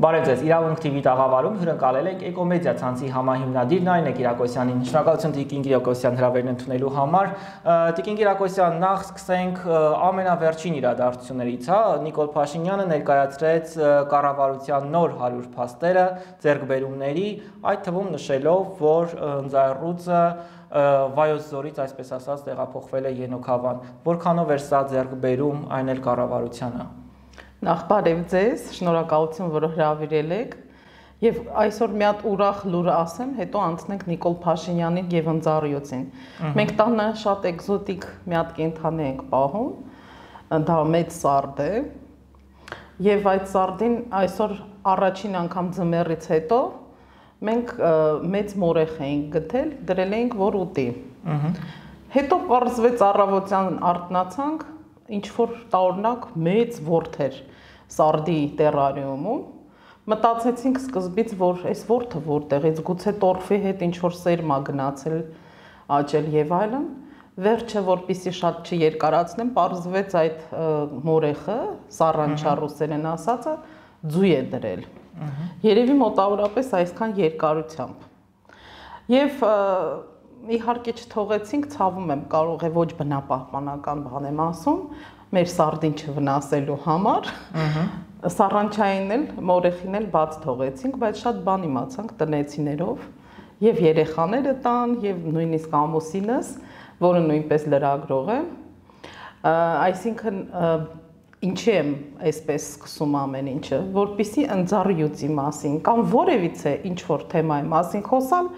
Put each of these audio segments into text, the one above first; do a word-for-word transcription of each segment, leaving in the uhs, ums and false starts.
Բարև ձեզ, Իրավունք թի վի տաղավարում հյուրընկալել ենք Էկոմեդիա ցանցի համահիմնադիր Նարինե Կիրակոսյանին։ Շնորհակալություն Տիկին Կիրակոսյան հրավերն ընդունելու համար։ Տիկին Կիրակոսյան, նախ սկսենք ամենավերջին իրադարձություններից, հա, Նիկոլ Փաշինյանը ներկայացրեց կառավարության նոր հարյուր փաստերը ձեռքբերումների, այդ թվում նշելով, որ Ընձառյուծը Վայոց ձորից, այսպես ասած, տեղափոխվել է Ենոքավան։ Որքանով էր սա ձեռքբերում այն էլ կառավարությանը։ Նախ բարև ձեզ, շնորհակալություն, որ հրավիրել եք, եւ այսօր մի հատ ուրախ լուր ասեմ, հետո անցնենք Նիկոլ Փաշինյանին եւ Ընձառյուծին։ Մենք տանը շատ էկզոտիկ մի հատ կենդանի ենք պահում, դա մեծ սարդ է, եւ այդ սարդին այսօր առաջին անգամ ձմեռից հետո մենք մեծ մորեխ էինք գտել, դրել էինք որ ուտի։ Հետո պարզվեց առավոտյան արթնացանք, ինչ որ տարօրինակ մեծ ворթ էր սարդի տերարիումում, մտածեցինք սկզբից, որ այս ворթը որտեղից, գուցե տորֆի հետ ինչ որ սերմ ա գնացել, աճել եւ այլն, վերջը որպեսի շատ չերկարացնեմ, պարզվեց այդ մորեխը, սառանչա ռուսերեն ասածը, ձու է դրել։ Երևի մոտավորապես այսքան երկարությամբ։ Եվ իհարկե չթողեցինք, ցավում եմ, կարող է ոչ բնապահպանական բան եմ ասում, մեր սարդին չվնասելու համար, սառանչային էլ, մորեխին էլ բաց թողեցինք, բայց շատ բան իմացանք տնեցիներով, եւ երեխաները տան, եւ նույնիսկ ամուսինս, որը նույնպես լրագրող է, այսինքն ինչի եմ այսպես սկսում ամեն ինչը, որպեսզի Ընձառյուծի մասին կամ որևիցե ինչ որ թեմայի մասին խոսալ,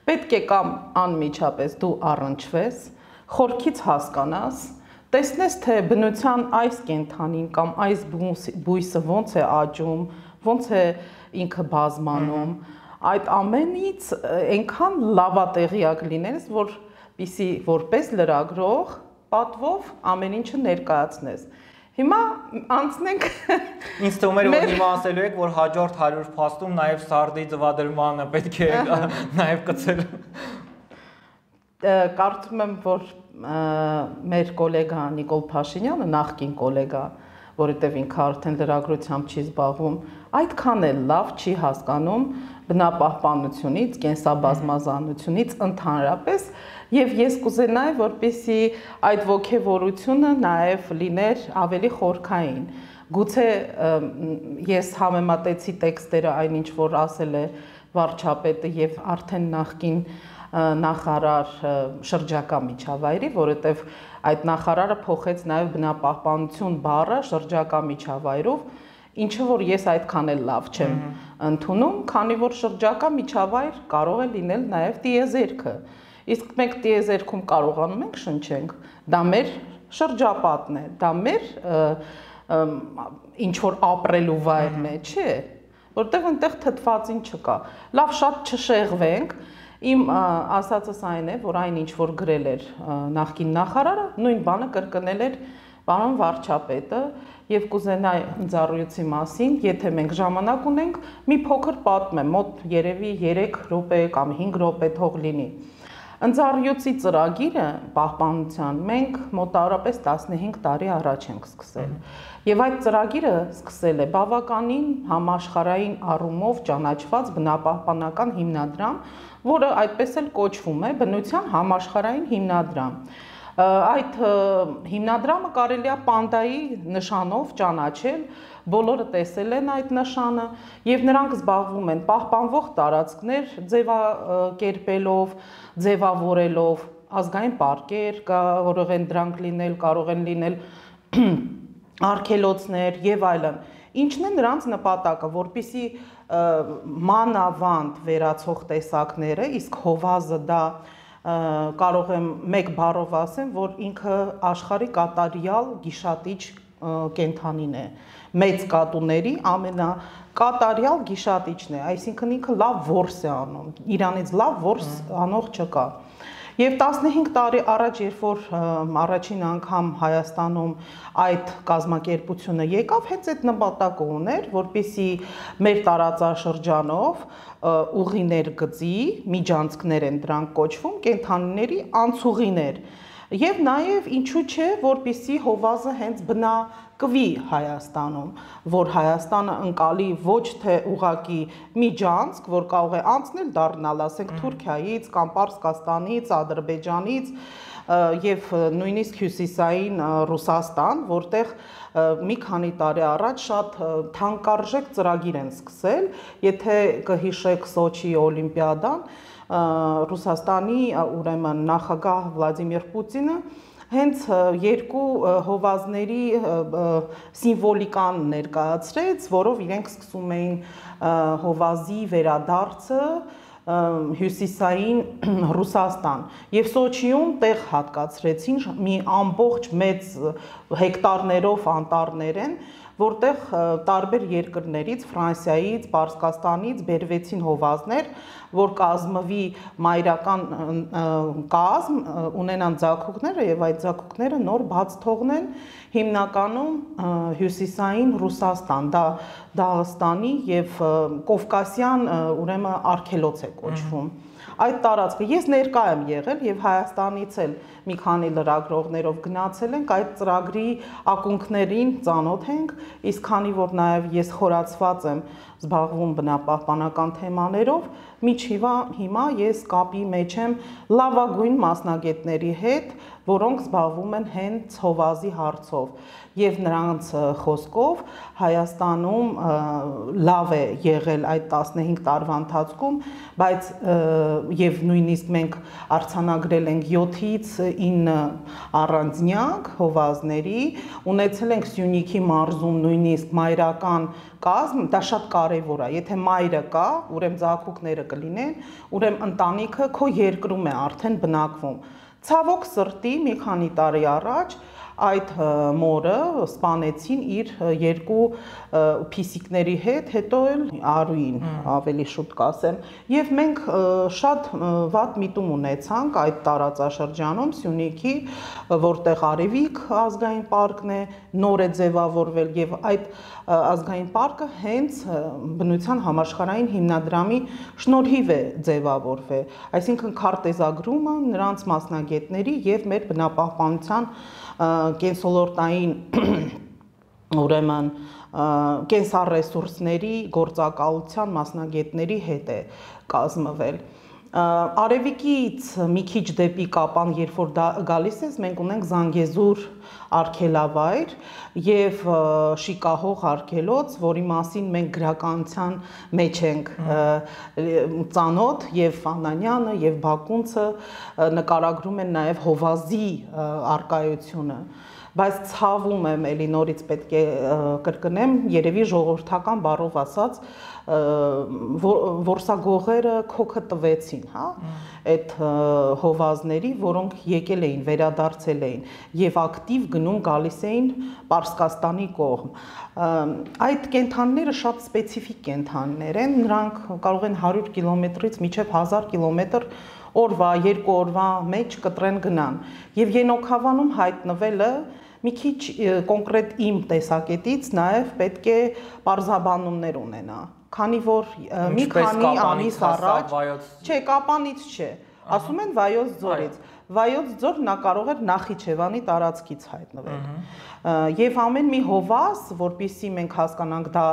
պետք է կամ անմիջապես դու առնչվես, խորքից հասկանաս, տեսնես թե բնության այս կենդանին կամ այս բույսը ոնց է աճում, ոնց է ինքը բազմանում, այդ ամենից այնքան լավատեղյակ լինես, որպեսզի որպես լրագրող պատվով ամեն ինչը ներկայացնես։ Հիմա անցնենք Ինձ թվում էր, որ հիմա ասելու եք, որ հաջորդ հարյուր փաստում նաև սարդի ձվադրմանը պետք է նաև կցել։ Կարծում եմ, որ մեր գոլեգա Նիկոլ Փաշինյանը, նախկին գոլեգա, որովհետև ինքը արդեն լրագրությամբ չի զբաղվում, այդքան էլ լավ չի հասկանում բնապահպանությունից, կենսաբազմազանությունից ընդհանրապես, եւ ես կուզենայի, որպեսզի այդ ոգևորությունը նաև լիներ ավելի խորքային։ Գուցե ես համեմատեցի տեքստերը այն ինչ որ ասել է վարչապետը եւ արդեն նախկին նախարար շրջակա միջավայրի, որովհետեւ այդ նախարարը փոխեց նաև բնապահպանություն բառը շրջակա միջավայրով, ինչը որ ես այդքան էլ լավ չեմ ընդունում, քանի որ շրջակա միջավայր կարող է լինել նաև տիեզերքը։ Իսկ մենք տիեզերքում կարողանում ենք շնչենք, դա մեր շրջապատն է, դա մեր ինչ որ ապրելու վայրն է, չէ, որտեղ այնտեղ թթվածին չկա։ Լավ շատ չշեղվենք, իմ ասածս այն է, որ այն ինչ որ գրել էր նախկին նախարարը, նույն բանը կրկնել էր պարոն վարչապետը եւ կուզենայի Ընձառյուծի մասին, եթե մենք ժամանակ ունենք, մի փոքր պատմեմ, մոտ երևի երեք րոպե կամ հինգ րոպե թող լինի։ Ընձառյուծի ծրագիրը պահպանության մենք մոտավորապես տասնհինգ տարի առաջ ենք սկսել։ Եվ այդ ծրագիրը սկսել է բավականին համաշխարհային առումով ճանաչված բնապահպանական հիմնադրամ, որը այդպես էլ կոչվում է բնության համաշխարհային հիմնադրամ։ Այդ հիմնադրամը կարելի է պանդայի նշանով ճանաչել, բոլորը տեսել են այդ նշանը եւ նրանք զբաղվում են պահպանվող տարածքներ ձևակերպելով, ձևավորելով, ազգային պարկեր, կարող են դրանք լինել, կարող են լինել արգելոցներ եւ այլն։ Ինչն է նրանց նպատակը, որպեսզի մանավանդ վերացող տեսակները, իսկ հովազը դա կարող եմ մեկ բառով ասեմ, որ ինքը աշխարհի կատարյալ գիշատիչ կենդանին է, մեծ կատուների ամենակատարյալ գիշատիչն է, այսինքն ինքը լավ որս է անում, իրանից լավ որս անող չկա։ Եվ տասնհինգ տարի առաջ, երբ որ առաջին անգամ Հայաստանում այդ կազմակերպությունը եկավ, հենց այդ նպատակը ուներ, որպեսզի մեր տարածաշրջանով ուղիներ գծի, միջանցքներ են դրանք կոչվում, կենդանիների անցուղիներ, եւ նաեւ ինչու՞ չէ, որպեսզի հովազը հենց բնա կվի Հայաստանում, որ Հայաստանը ընկալի ոչ թե ուղակի միջանցք, որ կարող է անցնել դառնալ, ասենք Թուրքիայից կամ Պարսկաստանից, Ադրբեջանից եւ նույնիսկ հյուսիսային Ռուսաստան, որտեղ մի քանի տարի առաջ շատ թանկարժեք ծրագիր են սկսել, եթե կհիշեք Սոչիի օլիմպիադան, Ռուսաստանի ուրեմն նախագահ Վլադիմիր Պուտինը հենց երկու հովազների սիմվոլիկան ներկայացրեց, որով իրենք սկսում էին հովազի վերադարձը հյուսիսային Ռուսաստան եւ Սոչիում տեղ հատկացրեցին մի ամբողջ մեծ հեկտարներով անտառներ են, որտեղ տարբեր երկրներից, Ֆրանսիայից, Պարսկաստանից բերվեցին հովազներ, որ կազմվի մայրական կազմ, ունենան ձագուկները եւ այդ ձագուկները նոր բաց թողնեն հիմնականում հյուսիսային Ռուսաստան, դա Դաղստանի եւ Կովկասյան ուրեմն արգելոց է կոչվում։ Այդ տարածքը ես ներկա եմ եղել եւ Հայաստանից էլ մի քանի լրագրողներով գնացել ենք, այդ ծրագրի ակունքներին ծանոթ ենք, իսկ քանի որ նաեւ ես խորացված եմ զբաղվում բնապահպանական թեմաներով, միջիվա հիմա ես կապի մեջ եմ լավագույն մասնագետների հետ, որոնք զբաղվում են հենց հովազի հարցով եւ նրանց խոսքով Հայաստանում լավ է եղել այդ տասնհինգ տարվա ընթացքում, բայց եւ նույնիսկ մենք արձանագրել ենք յոթից ինը առանձնյակ հովազների, ունեցել ենք Սյունիքի մարզում նույնիսկ մայրական կազմ, դա շատ կարեւոր է, եթե մայրը կա, ուրեմն ձագուկները կլինեն, ուրեմն ընտանիքը քո երկրում է արդեն բնակվում։ Ցավոք սրտի մի քանի տարի առաջ այդ մորը սպանեցին իր երկու փիսիկների հետ, հետո էլ արուին, ավելի շուտ կասեմ, եւ մենք շատ վատ միտում ունեցանք այդ տարածաշրջանում Սյունիքի, որտեղ Արևիկ ազգային պարկն է, նոր է ձևավորվել եւ այդ ազգային պարկը հենց բնության համաշխարհային հիմնադրամի շնորհիվ է ձևավորվել, այսինքն քարտեզագրումը նրանց մասնագետների եւ մեր բնապահպանության կենսոլորտային ուրեմն կենսառեսուրսների գործակալության մասնագետների հետ է կազմվել։ Արևիկից մի քիչ դեպի Կապան, երբ որ գալիս ես, մենք ունենք Զանգեզուր արգելավայր եւ Շիկահող արգելոց, որի մասին մենք գրականության մեջ ենք ծանոթ եւ Անանյանը եւ Բակունցը նկարագրում են նաեւ հովազի արկայությունը, բայց ցավում եմ, էլի նորից պետք է կրկնեմ, երևի ժողովրդական բառով ասած, որսագողերը քոքը տվեցին, հա, այդ հովազների, որոնք եկել էին, վերադարձել էին եւ ակտիվ գնում գալիս էին Պարսկաստանի կողմ։ Այդ կենթանիները շատ սպეციფიկ կենթանիներ են, նրանք կարող են հարյուր կիլոմետրից մինչև հազար կիլոմետր օրվա, երկու օրվա մեջ կտրեն գնան։ Եվ Ենոքավանում հայտնվելը մի քիչ կոնկրետ իմ տեսակետից նաև պետք է պարզաբանումներ ունենա, քանի որ մի քանի ամիս առաջ, չէ, Կապանից չէ, ասում են Վայոց ձորից, Վայոց ձոր նա կարող էր Նախիջևանի տարածքից հայտնվել։ Եվ ամեն մի հովազ, որպեսզի մենք հասկանանք դա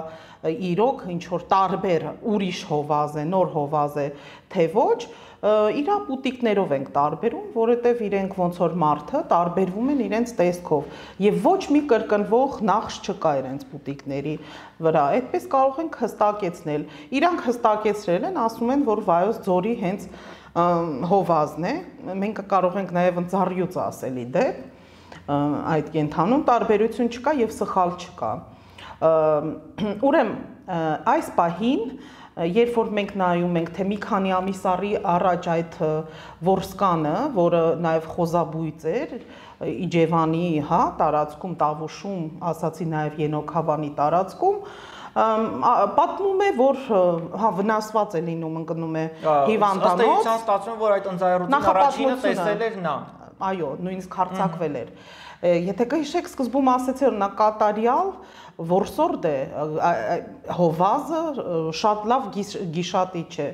իրոք ինչ որ տարբեր ուրիշ հովազ է, նոր հովազ է, թե ոչ, իրա պուտիկներով ենք տարբերում, որովհետև իրենք ոնց որ մարդը տարբերվում են իրենց տեսքով եւ ոչ մի կրկնվող նախշ չկա իրենց պուտիկների վրա, այդպես կարող ենք հստակեցնել։ Իրանք հստակեցրել են, ասում են, որ Վայոց ձորի հենց հովազն է, մենք կարող ենք նաեւ ընձառյուծ ասել իդեպ այդ կենթանում տարբերություն չկա եւ սխալ չկա։ Ուրեմն այս պահին երբ որ մենք նայում ենք, թե մի քանի ամիս առաջ այդ Որսկանը, որը նաև խոզաբույծ էր, Իջևանի, հա, տարածքում, Տավուշում, ասացի նաև Ենոքավանի տարածքում, պատմում է, որ հա վնասված է լինում, ընկնում է հիվանդանոց։ Ըստ էության ստացվում, որ այդ ընձեռությունն առաջինը տեսել էր նա։ Այո, նույնիսկ հարձակվել էր։ Եթե կհիշեք, սկզբում ասեցի, որ նա կատարյալ որսորդ է, հովազը շատ լավ գիշատիչ է։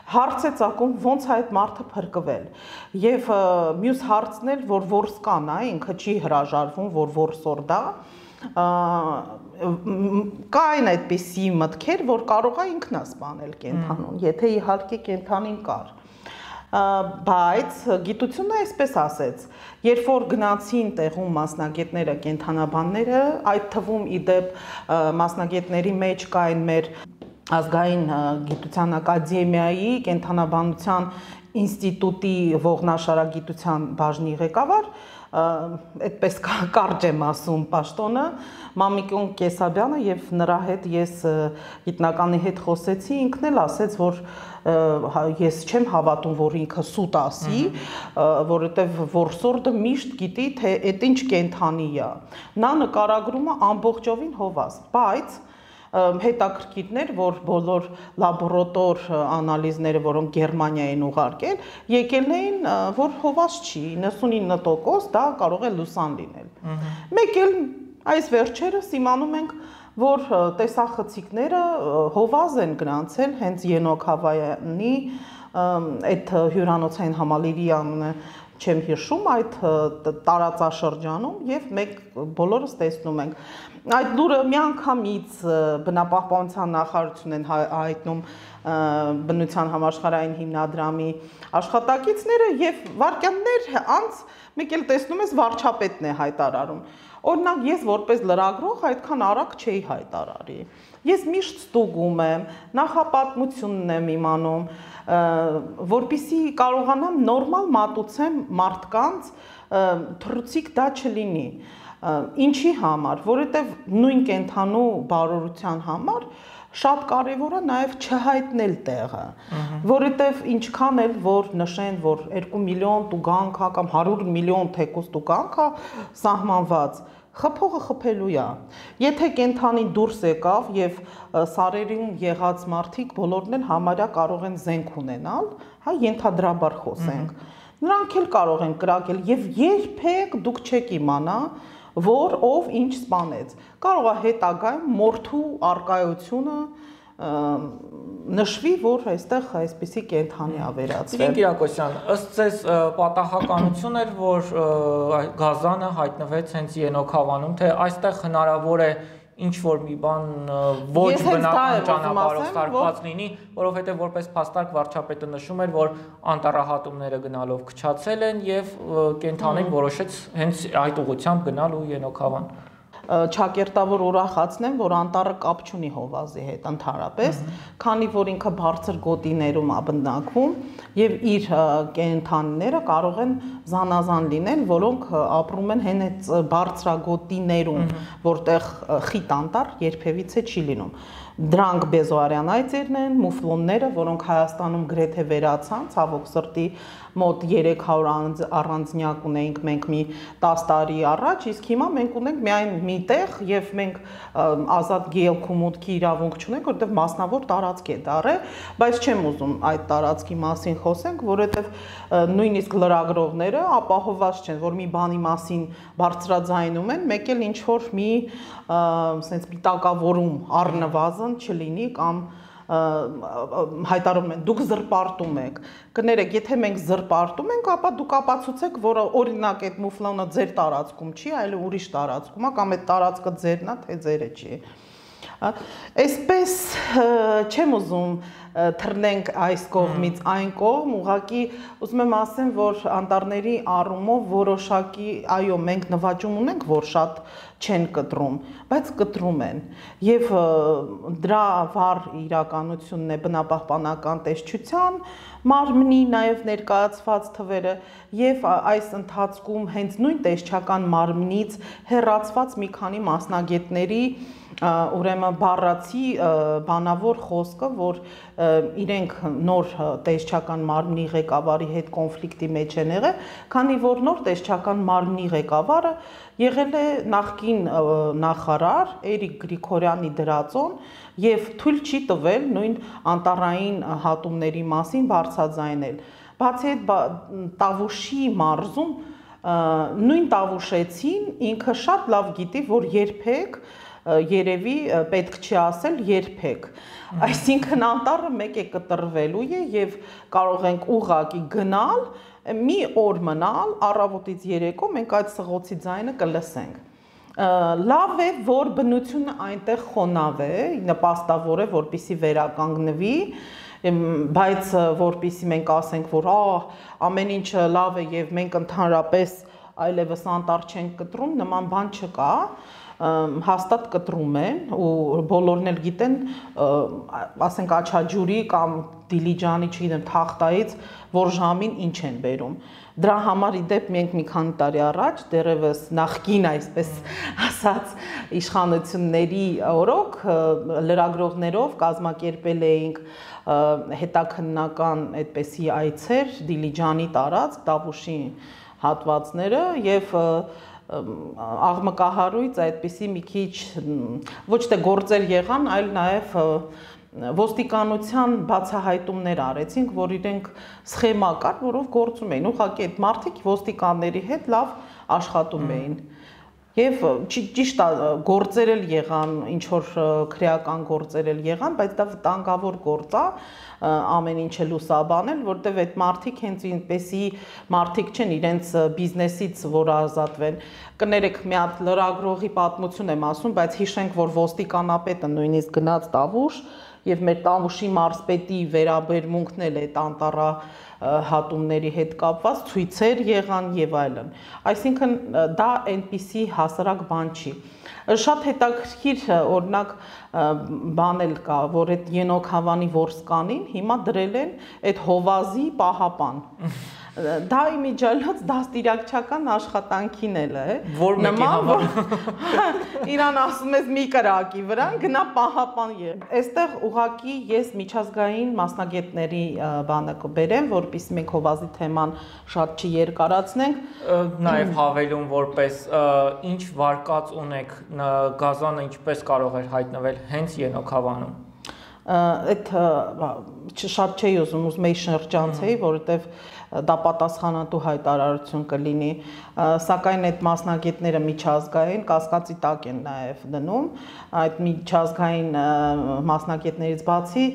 Հարց է ծագում, ոնց է այդ մարդը փրկվել։ Եվ մյուս հարցն էլ, որ որսկան է, ինքը չի հրաժարվում, որ որսորդ է, կային այդպիսի մտքեր, որ կարող է ինքնասպանել կենդանուն, եթե իհարկե կենդանին կար։ Բայց գիտությունը այսպես ասեց, երբ որ գնացին տեղում մասնագետները, կենդանաբանները, այդ թվում իդեպ մասնագետների մեջ կային մեր ազգային գիտության ակադեմիայի կենդանաբանության ինստիտուտի ողնաշարագիտության բաժնի ղեկավար, այդպես կարճ եմ ասում պաշտոնը, Մամիկոն Կեսաբյանը, եւ նրա հետ ես գիտնականի հետ խոսեցի, ինքն էլ ասեց, որ ես չեմ հավատում, որ ինքը սուտ ասի, որովհետեւ որսորդը միշտ գիտի, թե այդ ինչ կենդանի է։ Նա նկարագրում է ամբողջովին հովազ, բայց հետաքրքիրներ, որ բոլոր լաբորատոր անալիզները, որոնք Գերմանիա են ուղարկել, եկել էին, որ հովազ չի, իննսունինը տոկոս դա կարող է լուսան լինել։ Մեկ էլ այս վերջերս իմանում ենք, որ տեսախցիկները հովազ են գրանցել հենց Ենոք Հավայանի այդ հյուրանոցային համալիրի անունը չեմ հիշում, այդ տարածաշրջանում եւ մեկ բոլորս տեսնում ենք։ Այդ լուրը միանգամից բնապահպանության նախարարությունն են հայտնում բնության համաշխարհային հիմնադրամի աշխատակիցները եւ վարքյաններ անց մեկ էլ տեսնում ես վարչապետն է հայտարարում։ Օրինակ ես որպես լրագրող այդքան արագ չէի հայտարարի։ Ես միշտ ստուգում եմ, նախապատմությունն եմ իմանում, որպեսզի կարողանամ նորմալ մատուցեմ մարդկանց, թռուցիկ դա չլինի։ Ինչի համար, որովհետև նույն կենդանու բարօրության համար շատ կարևոր է նաև չհայտնել տեղը, որովհետև ինչքան էլ որ նշեն, որ երկու միլիոն տուգանք է կամ հարյուր միլիոն թեկուզ տուգանք է սահմանված, խփողը խփելու է։ Եթե կենդանին դուրս եկավ եւ սարերում եղած մարդիկ բոլորն էլ համարյա կարող են զենք ունենալ, հա ենթադրաբար խոսենք։ Նրանք էլ կարող են կրակել եւ երբեք դուք չեք իմանա, որ ով ինչ սպանեց։ Կարող է հետագայում մորթու արկայությունը նշվի, որ այստեղ այսպիսի կենդանի է վերածվել։ Տիկին Կիրակոսյան, ըստ ձեզ պատահականություն էր, որ գազանը հայտնվեց հենց Ենոք Հավանում, թե այստեղ հնարավոր է ինչ-որ մի բան ոչ բնական ճանապարհով սարքված լինի, որովհետև որպես փաստարկ վարչապետը նշում էր, որ անտառահատումները գնալով քչացել են եւ կենդանին որոշեց հենց այդ ուղղությամբ գնալ ու Ենոք Հավան։ Չակերտավոր ուրախացնեմ, որ անտառը կապ չունի հովազի հետ ընդհանրապես, քանի որ ինքը բարձր գոտիներում է բնակվում եւ իր կենդանիները կարող են զանազան լինել, որոնք ապրում են հենց բարձրագոտիներում, որտեղ խիտ անտառ երբևիցե չի լինում։ Դրանք բեզոարյան այծերն են, մուֆլոնները, որոնք Հայաստանում գրեթե վերացան, ցավոք սրտի մոտ երեք հարյուր առանձնյակ ունեինք մենք մի տասը տարի առաջ, իսկ հիմա մենք ունենք միայն մի տեղ եւ մենք ազատ գելք ու մուտքի իրավունք չունենք, որովհետեւ մասնավոր տարածք է դառել, բայց չեմ ուզում այդ տարածքի մասին խոսենք, որովհետեւ նույնիսկ լրագրողները ապահովված չեն, որ մի բանի մասին բարձրաձայնում են, մեկ էլ ինչ որ մի sense պիտակավորում առնվազն չլինի կամ հայտարարում են դուք զրպարտում եք կներեք եթե մենք զրպարտում ենք ապա դուք ապացուցեք որ օրինակ այդ մուֆլոնը ձեր տարածքում չի այլ ուրիշ տարածքում է կամ այդ տարածքը ձերն է թե ձերը չի այսպես չեմ ուզում թռնենք այս կողմից այն կողմ ուղղակի ուզում եմ ասեմ որ անտառների առումով որոշակի այո մենք նվաճում ունենք որ շատ չեն կտրում բայց կտրում են եւ դրա վառ իրականությունն է բնապահպանական տեսչության մարմնի նաեւ ներկայացված թվերը եւ այս ընթացքում հենց նույն տեսչական մարմնից հեռացված մի քանի մասնագետների ուրեմն բառացի բանավոր խոսքը որ իրենք նոր տեսչական մարմնի ղեկավարի հետ կոնֆլիկտի մեջ են եղել քանի որ նոր տեսչական մարմնի ղեկավարը եղել է նախկին նախարար Էրիկ Գրիգորյանի դրածոն եւ թույլ չի տվել նույն անտառային հատումների մասին բարձրաձայնել բացի այդ Տավուշի մարզում նույն Տավուշեցին ինքը շատ լավ գիտի որ երբեք երևի պետք չի ասել երբեք այսինքն անտառը մեկ է կտրվելու է եւ կարող ենք ուղակի գնալ մի օր մնալ առավոտից երեկո մենք այդ սղոցի ձայնը կլսենք Լավ է, որ բնությունը այնտեղ խոնավ է, նպաստավոր է, որպեսզի վերականգնվի, բայց որպեսզի մենք ասենք, որ ամեն ինչը լավ է եւ մենք ընդհանրապես այլևս անտառ չենք կտրում, նման բան չկա, հաստատ կտրում են ու բոլորն էլ գիտեն, ասենք Աչաջուրի կամ Դիլիջանի, չգիտեմ, Թախտայից, որ ժամին ինչ են բերում։ Դրա համար ի դեպ մենք մի քանի տարի առաջ դեռևս նախկին այսպես ասած իշխանությունների օրոք լրագրողներով կազմակերպել էինք հետաքննական այդպեսի այցեր Դիլիջանի տարածք, Տավուշի հատվածները եւ աղմկահարույց այդպիսի մի քիչ ոչ թե գործեր եղան, այլ նաեւ ոստիկանության բացահայտումներ արեցինք, որ իրենք սխեմա կար, որով գործում էին։ Ուղղակի այդ մարդիկ ոստիկանների հետ լավ աշխատում էին։ Եվ ճիշտ է, գործեր էլ եղան, ինչ որ քրեական գործեր էլ եղան, բայց դա վտանգավոր գործ է, ամեն ինչը լուսաբանել, որտեվ այդ մարդիկ հենց այնպեսի մարդիկ չեն իրենց բիզնեսից, որ ազատվեն։ Կներեք, մի հատ լրագրողի պատմություն եմ ասում, բայց հիշենք, որ ոստիկանապետը նույնիսկ գնաց Տավուշ եւ մեր Տավուշի մարզպետի վերաբերմունքն էլ այդ անտառա հատումների հետ կապված ցույցեր եղան եւ այլն։ Այսինքն դա այնպիսի հասարակ բան չի։ Շատ հետաքրքիր օրինակ բան էլ կա, որ այդ Ենոք Հավանի Որսկանին հիմա դրել են այդ հովազի պահապան։ Դա իմիջիալոց դաստիարակչական աշխատանքին էլ է։ Որ մեկի համար Իրան ասում ես մի կրակի վրա գնա պահապան է։ Այստեղ ուղակի ես միջազգային մասնագետների բանը կբերեմ, որպեսզի մենք հովազի թեման շատ չերկարացնենք։ Նաև հավելում որպես ինչ վարկած ունեք գազանը ինչպես կարող էր հայտնվել հենց Ենոք Հավանում։ Այդ շատ չէի ուզում, ուզում էի շրջանցեի, որովհետև դա պատասխանատու հայտարարություն կլինի, սակայն այդ մասնագետները միջազգային կասկածի տակ են նաև դնում, այդ միջազգային մասնագետներից բացի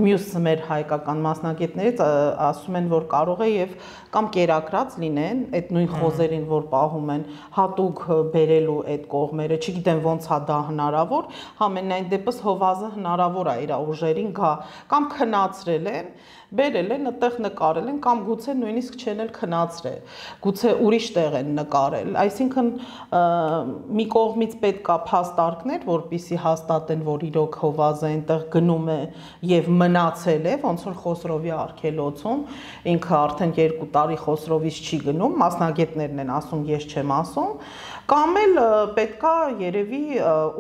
մյուս մեր հայկական մասնագետներից ասում են, որ կարող է եւ կամ կերակրած լինեն այդ նույն խոզերին, որ պահում են, հատուկ բերելու այդ կողմերը, չգիտեմ ոնց է դա հնարավոր, համենայն դեպս հովազը հնարավոր է իր ուժերին գա, կամ քնացրել են, բերել են, այդտեղ նկարել են, կամ գուցե նույնիսկ չեն էլ քնացրել, գուցե ուրիշ տեղ են նկարել, այսինքն մի կողմից պետք է փաստարկներ, որպեսզի հաստատեն, որ իրոք հովազը այնտեղ գնում է եւ մնացել է, ոնց որ Խոսրովի արգելոցում, ինքը արդեն երկու տարի Խոսրովից չի գնում, մասնագետներն են ասում, ես չեմ ասում, կամ էլ պետքա երևի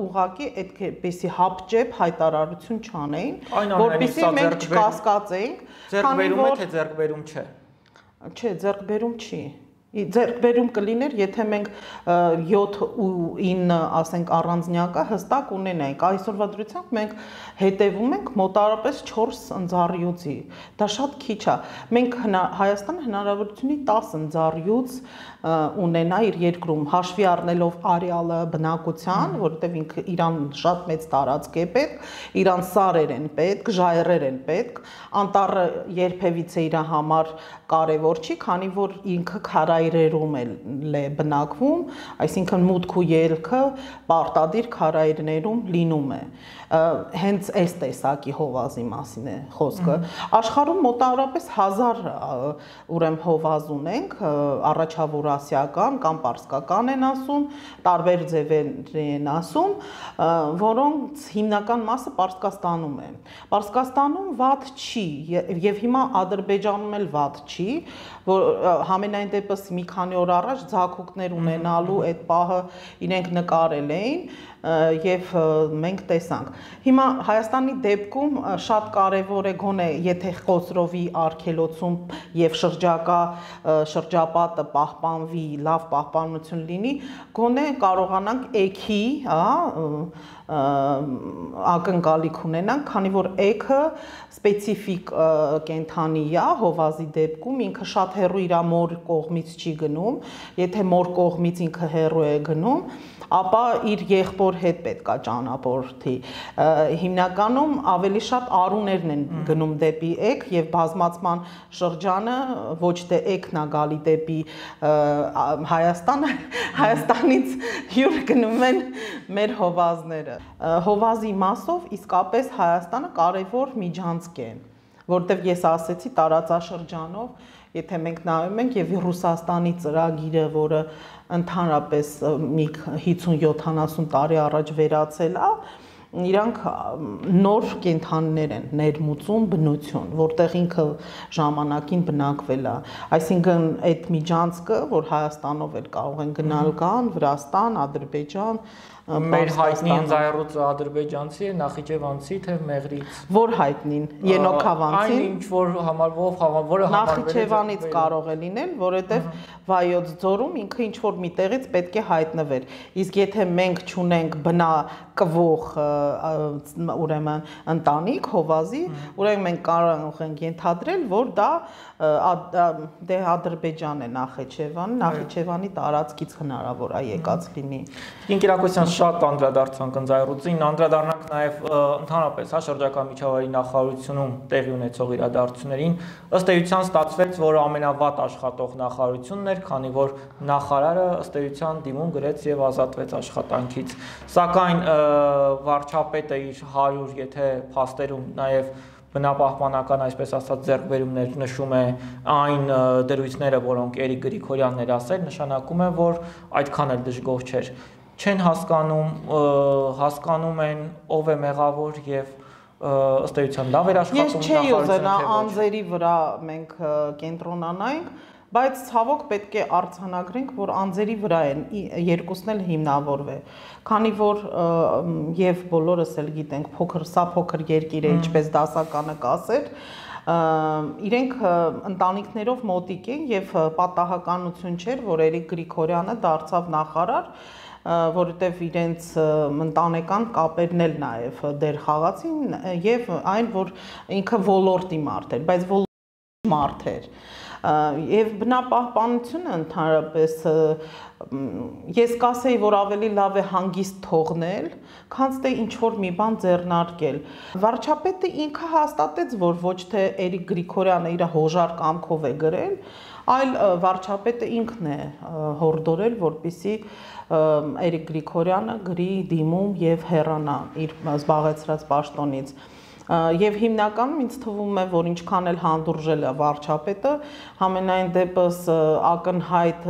ուղակի այդպեսի հապճեպ հայտարարություն չանեին, որպեսզի մենք չկասկածեինք, ձեռքբերում է թե ձեռքբերում չէ։ Չէ, ձեռքբերում չի։ Ձեռքբերում կլիներ, եթե մենք յոթ ու ինը ասենք առանձնյակը հստակ ունենայինք, այսօրվա դրությամբ մենք հետևում ենք մոտարապես չորս ընձառյուծի, դա շատ քիչ է, մենք Հայաստանը հնարավորություն ունի տաս ընձառյուծ ունենա իր երկրում, հաշվի առնելով արեալը բնակության, որովհետև ինքը Իրան շատ մեծ տարածք է պետք, Իրան սարեր են պետք, ժայռեր են պետք, անտառը երբևիցե իր համար կարևոր չի, քանի որ ինքը քարայրերում է բնակվում, այսինքն մուտք ու ելքը պարտադիր քարայրներում լինում է, հենց այս տեսակի հովազի մասին է խոսքը, աշխարհում մոտավորապես հազար ուրեմն հովազ ունենք, առաջավորասիական կամ պարսկական են ասում, տարբեր ձևեր են ասում, որոնց հիմնական մասը Պարսկաստանում են։ Պարսկաստանում վատ չի եւ հիմա Ադրբեջանում էլ վատ չի, որ համենայն դեպս մի քանի օր առաջ ձագուկներ ունենալու այդ պահը իրենք նկարել էին եւ մենք տեսանք։ Հիմա Հայաստանի դեպքում շատ կարեւոր է գոնե եթե Խոսրովի արգելոցում եւ շրջակա շրջապատը պահպանվի, լավ պահպանություն լինի, գոնե կարողանանք էքի, հա, ակնկալիք ունենանք, քանի որ էքը սպეციფიկ կենթանի է, հովազի դեպքում ինքը շատ հեռու իր մոր կողմից չի գնում, եթե մոր կողմից ինքը հեռու է գնում, ապա իր եղբոր որ հետ պետքա ճանապարհորդի։ Հիմնականում ավելի շատ արուներն են գնում դեպի էգ եւ բազմացման շրջանը ոչ թե էգն է գալի դեպի Հայաստանը, Հայաստանից հյուր գնում են մեր հովազները։ Հովազի մասով իսկապես Հայաստանը կարևոր միջանցք է, որտեղ ես ասեցի տարածաշրջանով, եթե մենք նայում ենք եւ Ռուսաստանի ծրագիրը, որը ընդհանրապես մի հիսուն յոթանասուն տարի առաջ վերացել է, իրանք նոր կենդանիներ են ներմուծում բնություն, որտեղ ինքը ժամանակին բնակվել է, այսինքն այդ միջանցքը, որ Հայաստանով էլ կարող են գնալ գան, Վրաստան, Ադրբեջան, մեր հայտնի ընձեռուծը ադրբեջանցի է, նախիջևանցի թե մեղրից։ Որ հայտնին, ենոքավանցին։ Այն ինչ որ համարվող, որը Նախիջևանից կարող է լինել, որովհետև Վայոց ձորում ինքը ինչ որ միտեղից պետք է հայտնվեր։ Իսկ եթե մենք չունենք բնակվող ուրեմն ընտանիք, հովազի, ուրեմն մենք կարող ենք ենթադրել, որ դա դե Ադրբեջան է Նախիջևան, Նախիջևանի տարածքից հնարավոր է եկած լինի։ Ինքիրակոսյան շատ անդրադարձանք ընձեռուծին, անդրադառնանք նաև ընդհանրապես հա շրջակա միջավայրի նախարարությունում տեղի ունեցող իրադարձություններին, ըստ էության ստացվեց, որ ամենավատ աշխատող նախարարությունն էր, քանի որ նախարարը ըստ էության դիմում գրեց եւ ազատվեց աշխատանքից։ Սակայն վարչապետը իր հարյուր եթե փաստերում նաև բնապահպանական, այսպես ասած, ձեռքբերումներ նշում է այն դրույթները, որոնք Էրիկ Գրիգորյանն էր ասել, նշանակում է, որ այդքան էլ դժգոհ չէր։ Չեն հասկանում, հասկանում են ով է մեղավոր եւ ըստ էության լավ էր աշխատում նախարարությունը։ Ես չէի ուզենա անձերի վրա մենք կենտրոնանայինք, բայց ցավոք պետք է արձանագրենք, որ անձերի վրա են երկուսն էլ հիմնավորվել, քանի որ եւ բոլորս էլ գիտենք, փոքր սա փոքր երկիր է, ինչպես դասականը կասեր, իրենք ընտանիքներով մոտիկ են եւ պատահականություն չէր, որ Էրիկ Գրիգորյանը դարձավ նախարար, որովհետև իրենց ընտանեկան կապերն էլ նաև դեր խաղացին եւ այն, որ ինքը ոլորտի մարդ էր, բայց ոլորտի մարդ էր եւ բնապահպանությունը ընդհանրապես ես կասեի, որ ավելի լավ է հանգիստ թողնել, քան թե ինչ որ մի բան ձեռնարկել։ Վարչապետը ինքը հաստատեց, որ ոչ թե Էրիկ Գրիգորյանը իր հոժար կամքով է գրել, այլ վարչապետը ինքն է հորդորել, որպեսզի Էրիկ Գրիգորյանը գրի դիմում եւ հեռանա իր զբաղեցրած պաշտոնից։ Եվ հիմնականում ինձ թվում է, որ ինչքան էլ հանդուրժել է վարչապետը, համենայն դեպս ակնհայտ,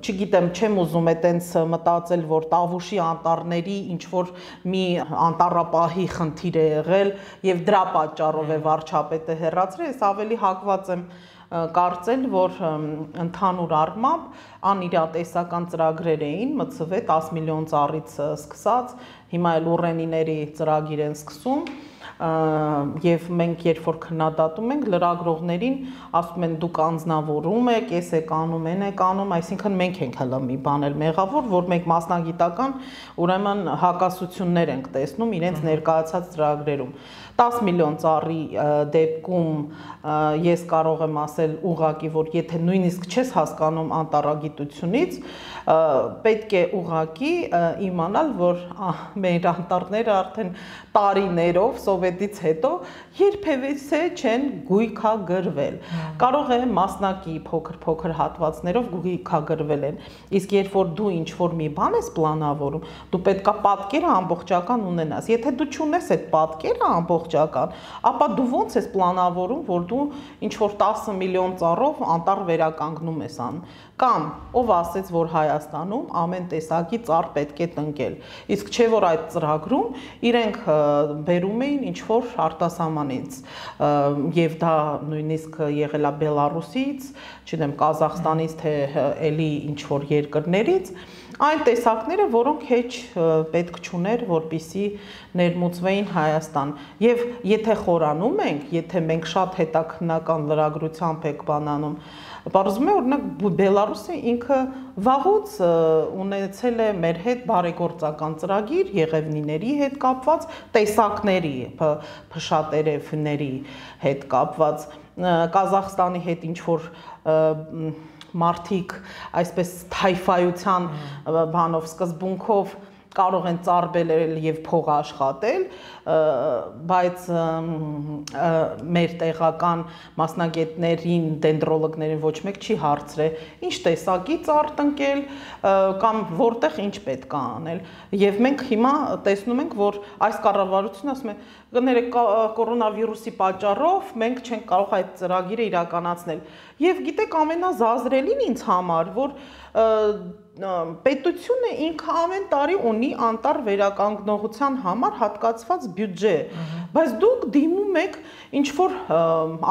չգիտեմ, չեմ ուզում է տենց մտածել, որ Տավուշի անտառների ինչ որ մի անտառապահի խնդիր է եղել եւ դրա պատճառով է վարչապետը հեռացրել, ես ավելի հակված եմ կարծել, որ ընդհանուր առմամբ անիրատեսական ծրագրեր էին մցվել տասը միլիոն ծառից սկսած, հիմա էլ ուռենիների ծրագիր են սկսում եւ մենք երբ որ քննադատում ենք լրագրողներին ասում են դուք անձնավորում եք, ես եք անում, են եք անում, այսինքն մենք ենք հələ մի բան էլ մեղավոր, որ մենք մասնագիտական ուրեմն հակասություններ ենք տեսնում իրենց ներկայացած ծրագրերում։ տասը միլիոն ծառի դեպքում ես կարող եմ ասել ուղղակի, որ եթե նույնիսկ չես հասկանում անտառագիտությունից, պետք է ուղղակի իմանալ, որ մեր անտառները արդեն տարիներով սովետից հետո երբևէ չեն գույքագրվել։ Կարող է մասնակի փոքր-փոքր հատվածներով գույքագրվել են։ Իսկ երբ որ դու ինչ որ մի բան ես պլանավորում, դու պետքա պատկերը ամբողջական ունենաս։ Եթե դու չունես այդ պատկերը ամբողջական, ապա դու ո՞նց ես պլանավորում, որ դու ինչ որ տասը միլիոն ծառով անտառ վերականգնում ես անում։ Կամ ով ասեց, որ Հայաստանում ամեն տեսակի ծառ պետք է տնկել։ Իսկ չէ որ այդ ծրագրում իրենք բերում էին ինչ որ արտասահմանից եւ դա նույնիսկ եղել է Բելարուսից, չգիտեմ, Կազախստանից թե էլի ինչ որ երկրներից, այն տեսակները, որոնք հեչ պետք չուներ, որպիսի ներմուծվեին Հայաստան։ Եվ եթե խորանում ենք, եթե մենք շատ հետաքննական լրագրությամբ ենք բանանում, բարձում է օրինակ Բելարուսը ինքը վաղուց ունեցել է մեր հետ բարեգործական ծրագիր եղևնիների հետ կապված, տեսակների, փշատերևների հետ կապված, Կազախստանի հետ ինչ որ մարդիկ այսպես թայֆայության բանով սկզբունքով կարող են ծառբերել եւ փող աշխատել, բայց մեր տեղական մասնագետներին, դենդրոլոգներին ոչ մեկ չի հարցրել, ինչ տեսակի ծառ տնկել կամ որտեղ ինչ պետք է անել։ Եվ մենք հիմա տեսնում ենք, որ այս կառավարությունը ասում է, կներեք կորոնավիրուսի պատճառով մենք չենք կարող այդ ծրագիրը իրականացնել։ Եվ գիտեք, ամենազազրելին ինձ համար, որ պետությունը ինքը ամեն տարի ունի անտառ վերականգնողության համար հատկացված բյուջե, բայց դուք դիմում եք ինչ-որ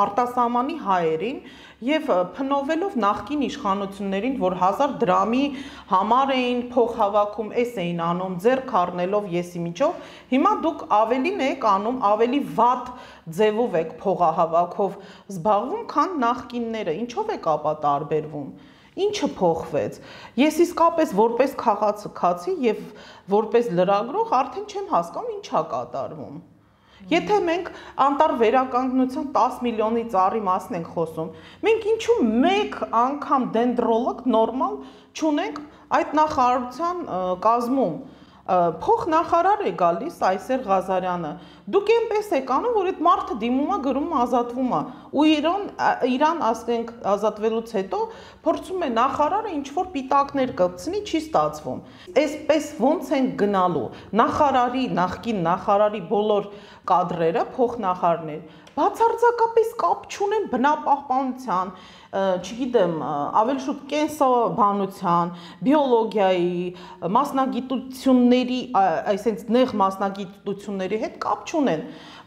արտասահմանի հայերին եւ փնովելով նախկին իշխանություններին, որ հազար դրամի համար էին փող հավաքում, էս էին անում, ձեռք առնելով եսի միջով, հիմա դուք ավելին եք անում, ավելի վատ ձևով եք փողահավաքով զբաղվում, քան նախկինները, ինչով եք ապա տարբերվում։ Ինչը փոխվեց։ Ես իսկապես որպես քաղաքացի եւ որպես լրագրող արդեն չեմ հասկանում ինչա կատարվում։ Եթե մենք անտառ վերականգնության տասը միլիոնի ծառի մասն ենք խոսում, մենք ինչու մեկ անգամ դենդրոլոգ նորմալ չունենք այդ նախարարության կազմում։ Փոխնախարար է գալիս Այսեր Ղազարյանը։ Դուք այնպես եք անում, որ այդ մարդը դիմում է, գրում ազատվում է, ու իրան իրան ասենք ազատվելուց հետո փորձում է նախարարը ինչ որ պիտակներ կպցնի, չի ստացվում։ Այսպես ոնց են գնալու նախարարի, նախկին նախարարի բոլոր կադրերը, փոխնախարարներ, բացարձակապես կապ չունեն բնապահպանության, չգիտեմ, ավելի շուտ կենսաբանության, բիոլոգիայի, մասնագիտությունների, այսինքն նեղ մասնագիտությունների հետ կապ չունեն։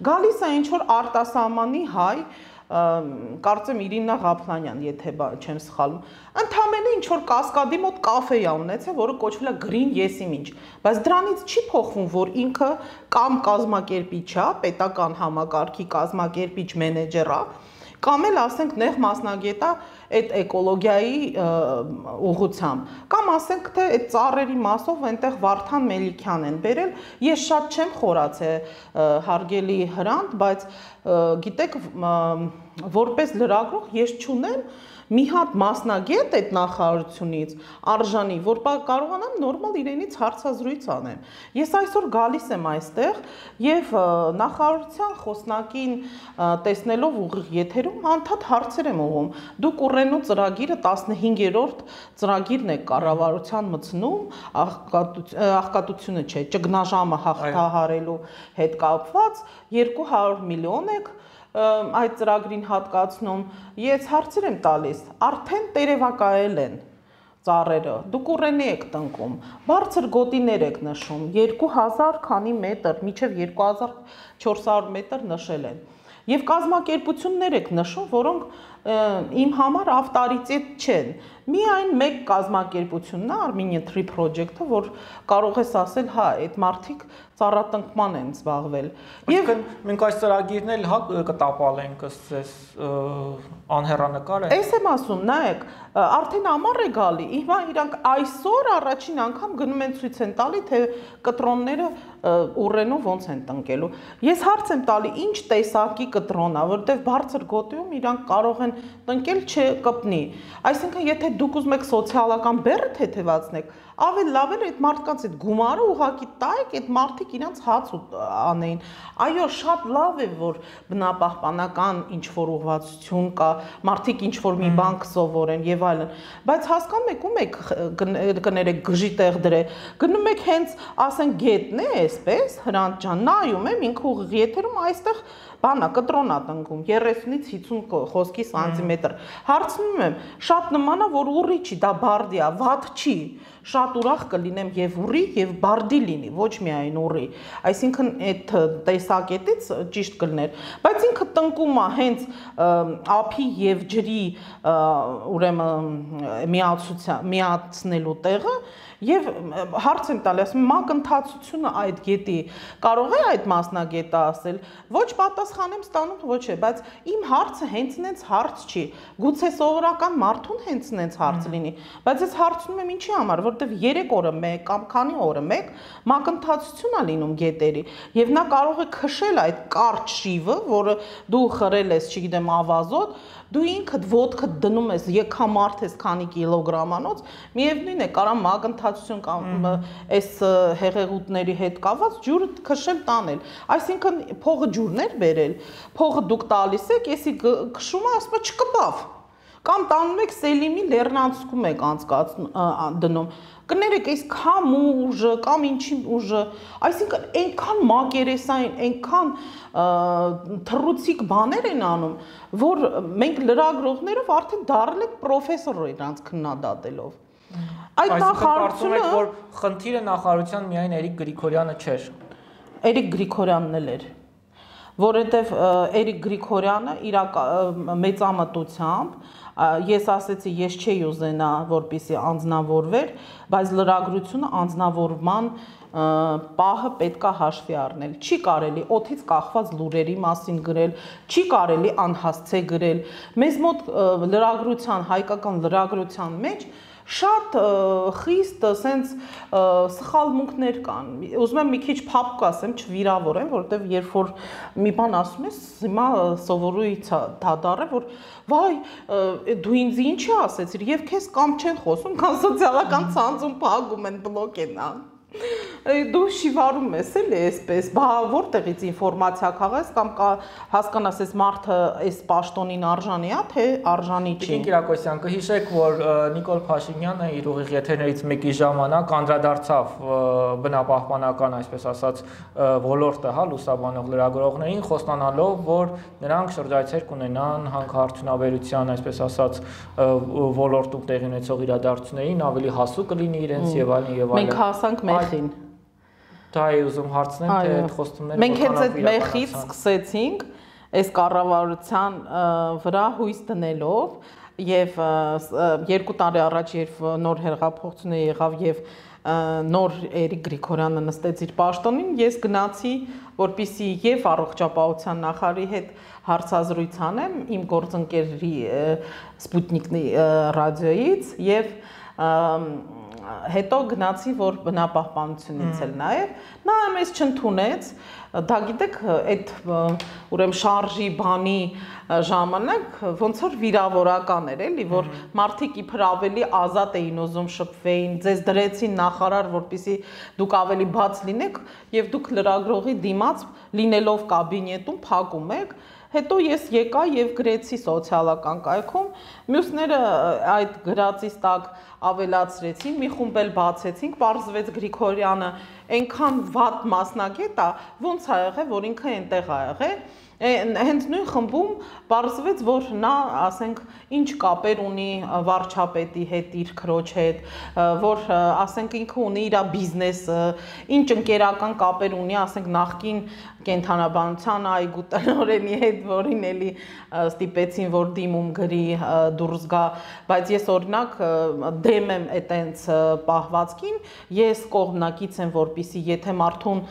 Գալիս է ինչ որ արտասահմանի հայ, կարծեմ Իրինա Ղափլանյան, եթե չեմ սխալվում, ընդամենը ինչ որ Կասկադի մոտ կաֆե է ունեցել, որը կոչվել է Green Եսիմինչ, բայց դրանից չի փոխվում, որ ինքը կամ կազմակերպիչ է, պետական համակարգի կազմակերպիչ մենեջեր է, կամ էլ ասենք նեղ մասնագետ է այդ էկոլոգիայի ուղղությամբ, կամ ասենք թե այդ ծառերի մասով այնտեղ Վարդան Մելիքյան են բերել, ես շատ չեմ խորացել հարգելի Հրանտ, բայց գիտեք, որպես լրագրող ես չունեմ մի հատ մասնագետ այդ նախարարությունից արժանի, որ կարողանամ նորմալ իրենից հարցազրույց անեմ։ Ես այսօր գալիս եմ այստեղ եւ նախարարության խոսնակին տեսնելով ուղիղ եթերում անդադ հարցեր եմ ուղում։ Դուք ուռենու ծրագիրը տասնհինգերորդ ծրագիրն է կառավարության մտցնում, աղքատությունը չէ, ճգնաժամը հաղթահարելու հետ կապված երկու հարյուր միլիոն եք այդ ծրագրին հատկացնում, ես հարցեր եմ տալիս, արդեն տերևակայել են ծառերը, դուք ուռենի եք տնկում, բարձր գոտիներ եք նշում, երկու հազար քանի մետր, մինչև երկու հազար չորս հարյուր մետր նշել են, եւ կազմակերպություններ եք նշում, որոնք իմ համար ավտորիտետ չեն, միայն մեկ կազմակերպությունն է Armenian Tree Project-ը, որ կարող ես ասել, հա, այդ մարդիկ ծառատնկման են զբաղվել։ Եվ մենք այս ծրագիրն էլ հա կտապալենք, ըստ անհեռանկարը։ Էս եմ ասում, նայեք, արդեն ամառ է գալի, հիմա իրանք այսօր առաջին անգամ գնում են ցույց են տալի, թե կտրոնները ուռենու ոնց են տնկելու։ Ես հարց եմ տալի, ինչ տեսակի կտրոն է, որտեղ բարձր գոտիում իրանք կարող են տնկել չկպնի։ Այսինքն, եթե դուք ուզում եք սոցիալական բեռը թեթևացնեք, ավելի լավ է այդ մարդկանց այդ գումարը ուղղակի տայեք, այդ մարդիկ իրենց հաց անեին։ Այո, շատ լավ է, որ բնապահպանական ինչ-որ ուղղվածություն կա, մարդիկ ինչ-որ մի բան կսովորեն եւ այլն, բայց հասկանում եք, ում եք կներեք գժի տեղ դրե, գնում եք հենց, ասենք, գետն է, այսպես, Հրանտ ջան, նայում եմ ինքը ուղիղ եթերում այստեղ բանա կտրոնա տնկում երեսունից հիսուն խոսքի սանտիմետր։ Հարցնում եմ, շատ նման է, որ ուռի չի, դա բարդի է, վատ չի, շատ ուրախ կլինեմ եւ ուռի եւ բարդի լինի, ոչ միայն ուռի։ Այսինքն այդ տեսակետից ճիշտ կլներ, բայց ինքը տնկում է հենց ափի եւ ջրի ուրեմն միացության միացնելու տեղը եւ հարց եմ տալի, ասում մակընթացությունը այդ գետի կարող է այդ մասնագետը ասել, ոչ պատասխան եմ ստանում, ոչ է, բայց իմ հարցը հենց նենց հարց չի, գուցե սովորական մարդուն հենց նենց հարց լինի, բայց ես հարցնում եմ ինչի համար, որտեվ երեք օրը մեկ կամ քանի օրը մեկ մակընթացություն է լինում գետերի եւ նա կարող է քշել այդ կարճ շիվը, որը դու խրել ես, չգիտեմ, ավազոտ, դու ինքդ ոտքդ դնում ես, եկամարդ ես քանի կիլոգրամանոց, միևնույն է, կարա մակընթացություն անընդհատություն կամ այս հեղեղուտների հետ կապված ջուրը քշել տանել։ Այսինքն փողը ջուրներ բերել, փողը դուք տալիս եք, եսի քշումը ասում է չկպավ։ Կամ տանում եք Սելիմի լեռնանցքում եք անցկաց դնում։ Կներեք, այս քամ ուժը կամ ինչին ուժը, այսինքն այնքան մակերեսային, այնքան թռուցիկ բաներ են անում, որ մենք լրագրողներով արդեն դառել ենք պրոֆեսոր իրանց քննադատելով։ Այդ նախարարությունը որ խնդիրը նախարարության միայն Էրիկ Գրիգորյանը չէր։ Էրիկ Գրիգորյանն էլ էր, որովհետև Էրիկ Գրիգորյանը իր մեծամտությամբ ես ասեցի, ես չէի ուզենա, որպեսզի անձնավորվեր, բայց լրագրությունը անձնավորման պահը պետքա հաշվի առնել։ Չի կարելի օդից կախված լուրերի մասին գրել, չի կարելի անհասցե գրել։ Մեզ մոտ լրագրության, հայկական լրագրության մեջ շատ խիստ սենց սխալմունքներ կան։ Ուզում եմ մի քիչ փափուկ ասեմ, չվիրավորեմ, որովհետև երբ որ մի բան ասում ես, հիմա սովորույթ դադարը, որ վայ, դու ինձ ինչ ասեցիր, եւ քեզ կամ չեն խոսում, կամ սոցիալական ցանցում փակում են, բլոկ են ան։ Դու շիվարում ես էլի այսպես, բա որտեղից ինֆորմացիա քաղես կամ հասկանաս այս մարդը այս պաշտոնին արժանի է, թե արժանի չի։ Տիկին Կիրակոսյան, կհիշեք, որ Նիկոլ Փաշինյանը իր ուղիղ եթերներից մեկի ժամանակ անդրադարձավ բնապահպանական, այսպես ասած, ոլորտը, հա, լուսաբանող լրագրողներին, խոստանալով, որ նրանք շրջայցեր կունենան հանքարդյունաբերության, այսպես ասած, ոլորտում տեղի ունեցող իրադարձություններին, ավելի հասու կլինի իրենց եւ այլն եւ այլն։ Մենք հասանք մեխին։ Դա է ուզում հարցնել, թե այդ խոստումները մենք հենց այդ մեխից սկսեցինք այս կառավարության վրա հույս դնելով եւ երկու տարի առաջ երբ նոր հեղափոխությունը եղավ եւ նոր Էրիկ Գրիգորյանը նստեց իր պաշտոնին, ես գնացի, որպեսզի եւ առողջապահության նախարարի հետ հարցազրույց անեմ իմ գործընկերի Սպուտնիկի ռադիոյից եւ հետո գնացի, որ բնապահպանությունից էլ նաև, նա մեզ չընդունեց, դա գիտեք, այդ ուրեմն շարժի բանի ժամանակ ոնց որ վիրավորական էր էլի, որ մարդիկ իբր ավելի ազատ էին ուզում շփվեին, ձեզ դրեցին նախարար, որպեսզի դուք ավելի բաց լինեք եւ դուք լրագրողի դիմաց լինելով կաբինետում փակում եք։ Հետո ես եկա եւ գրեցի սոցիալական կայքում, մյուսները այդ գրածից տակ ավելացրեցին, մի խումբ էլ բացեցինք, պարզվեց Գրիգորյանը այնքան վատ մասնագետ է, ոնց ա եղել, որ ինքը այնտեղ ա եղել, հենց նույն խմբում պարզվեց, որ նա, ասենք, ինչ կապեր ունի վարչապետի հետ, իր քրոջ հետ, որ, ասենք, ինքը ունի իր բիզնեսը, ինչ ընկերական կապեր ունի, ասենք, նախկին կենթանաբանության այգու տնօրենի հետ, որին էլի ստիպեցին, որ դիմում գրի դուրս գա, բայց ես օրինակ դեմ եմ այտենց պահվածքին, ես կողմնակից եմ, որպեսզի եթե մարդուն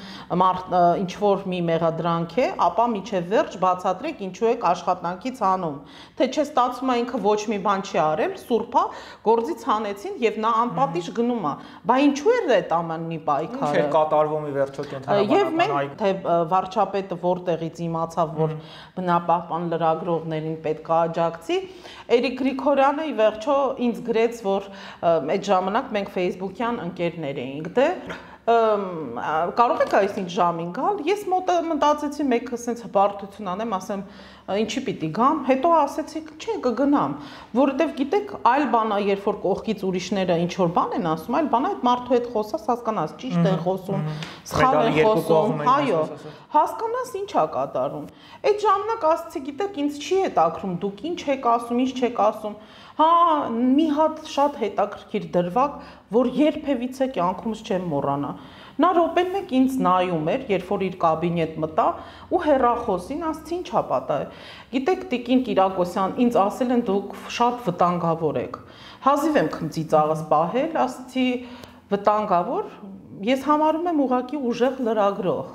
ինչ որ մի մեղադրանք է, ապա միջև վերջ բացատրեք ինչու եք աշխատանքից անում, թե չէ ստացվում է ինքը ոչ մի բան չի արել, սուրբա գործից հանեցին եւ նա անպատիժ գնում է, բա ինչու էր այդ ամենի պայքարը։ Ինչ էր կատարվում ի վերջո կենթանաբանական այգու։ Եվ մենք թե վարչապետը որտեղից իմացավ, որ բնապահպան լրագրողներին պետք է աջակցի, Էրիկ Գրիգորյանը ի վերջո ինձ գրեց, որ այդ ժամանակ մենք Facebook-յան ընկերներ էինք, դե կարող եք այսինչ ժամին գալ, ես մտածեցի մեկ ասենց հպարտություն անեմ, ասեմ ինչի պիտի գամ, հետո ասեցի չէ կգնամ, որովհետև գիտեք այլ բան է, երբ որ կողքից ուրիշները ինչ որ բան են ասում, այլ բան է այդ մարդու հետ խոսած հասկանաս, ճիշտ են խոսում, սխալ են խոսում, այո, հասկանաս ինչ է կատարում։ Այդ ժամանակ ասեցի գիտեք ինձ չի հետաքրում, դուք ինչ եք ասում, ինչ չեք ասում։ Հա, մի հատ շատ հետաքրքիր դրվագ, որ երբևիցե կյանքումս չեմ մոռանա։ Նա րոպեն մեկ ինձ նայում էր, երբ որ իր կաբինետ մտա ու հեռախոսին ասացի ինչ ա պատահել։ Գիտեք, Տիկին Կիրակոսյան, ինձ ասել են դուք շատ վտանգավոր եք։ Հազիվ եմ քմծիծաղս պահել, ասացի վտանգավոր, ես համարում եմ ուղղակի ուժեղ լրագրող։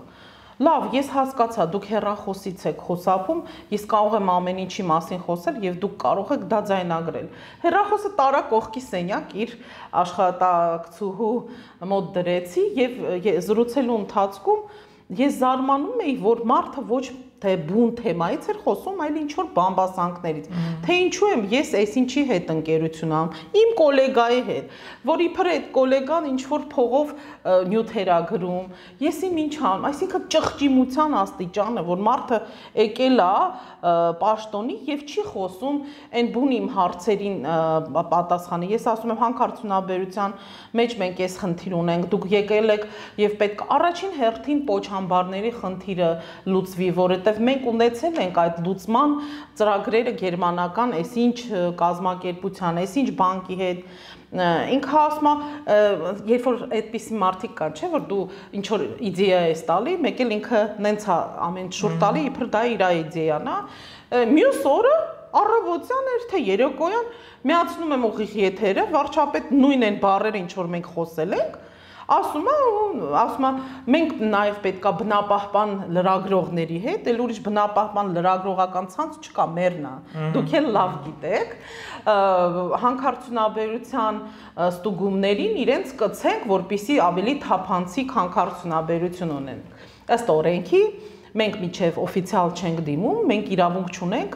Լավ, ես հասկացա, դուք հեռախոսից եք խոսապում, ես կարող եմ ամեն ինչի մասին խոսել եւ դուք կարող եք դա ձայնագրել։ Հեռախոսը տարա կողքի սենյակ իր աշխատակցուհու մոտ դրեցի եւ զրուցելու ընթացքում ես զարմանում էի, որ մարդը ոչ թե բուն թեմայից էր խոսում, այլ ինչ որ բամբասանքներից։ Թե ինչու եմ ես այսինչի հետ ընկերություն անում, իմ գոլեգայի հետ, որ իբր այդ գոլեգան ինչ որ փողով նյութեր ա գրում, ես իմ ինչ անում, այսինքն ճղճիմության աստիճանը, որ մարդը եկել է պաշտոնի եւ չի խոսում այն բուն իմ հարցերին պատասխանի։ Ես ասում եմ հանքարդյունաբերության մեջ մենք այս խնդիր ունենք, դուք եկել եք եւ պետք առաջին հերթին պոչամբարների խնդիրը լուծվի, որովհետեւ մենք ունեցել ենք այդ լուծման ծրագրերը գերմանական այսինչ կազմակերպության, այսինչ բանկի հետ ինքը ասում է, երբ որ այդպիսի մարդիկ կան, չէ՞ որ դու ինչ որ իդեա ես տալի, մեկ էլ ինքը նենց է ամեն շուրջ տալի, իբր դա իր իդեան է։ Մյուս օրը առավոտյան էր թե երեկոյան միացնում եմ ուղիղ եթերը, վարչապետ նույն են բառերը, ինչ որ մենք խոսել ենք, ասում է, ասում է, մենք նաև պետքա բնապահպան լրագրողների հետ, էլ ուրիշ բնապահպան լրագրողական ցանց չկա, մերն է։ Դուք էլ լավ գիտեք, հանքարդյունաբերության ստուգումներին իրենց կցենք, որպեսզի ավելի թափանցիկ հանքարդյունաբերություն ունեն։ Ըստ օրենքի մենք միջև օֆիցիալ չենք դիմում, մենք իրավունք չունենք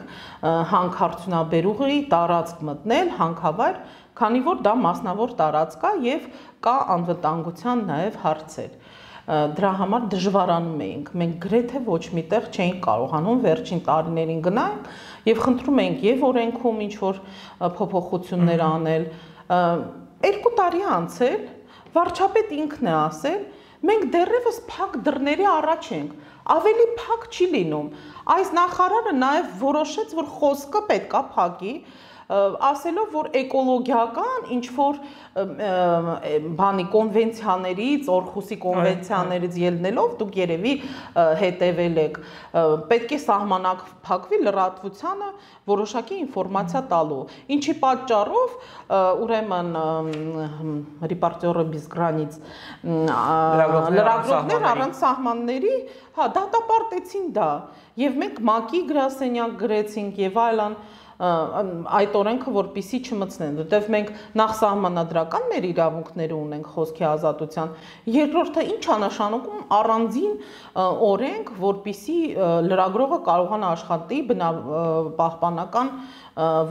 հանքարդյունաբերուղի տարածք մտնել, հանքավայր, քանի որ դա մասնավոր տարածք է եւ կա անվտանգության նաեւ հարցեր։ Դրա համար դժվարանում էինք, մենք գրեթե ոչ միտեղ չէինք կարողանում վերջին տարիներին գնանք եւ խնդրում էինք եւ օրենքում ինչ որ փոփոխություններ անել։ Երկու տարի անցել, վարչապետ ինքն է ասել, մենք դեռևս փակ դռների առաջ ենք, ավելի փակ չի լինում։ Այս նախարարը նաեւ որոշեց, որ խոսքը պետքա փակի, ասելով, որ էկոլոգիական ինչ որ բանի կոնվենցիաներից, Օրխուսի կոնվենցիաներից ելնելով դուք երևի հետևել եք, պետք է սահմանափակվի լրատվությանը որոշակի ինֆորմացիա տալու, ինչի պատճառով ուրեմն ռեպորտերը без границ լրագրողներ առանց սահմանների, հա, դատապարտեցին դա, եւ մենք ՄԱԿ-ի գրասենյակ գրեցինք եւ այլն այդ օրենքը որպեսի չմցնեն, որտեվ մենք նախ սահմանադրական մեր իրավունքները ունենք խոսքի ազատության, երկրորդը ինչ է նշանակում առանձին օրենք, որպեսի լրագրողը կարողանա աշխատի բնապահպանական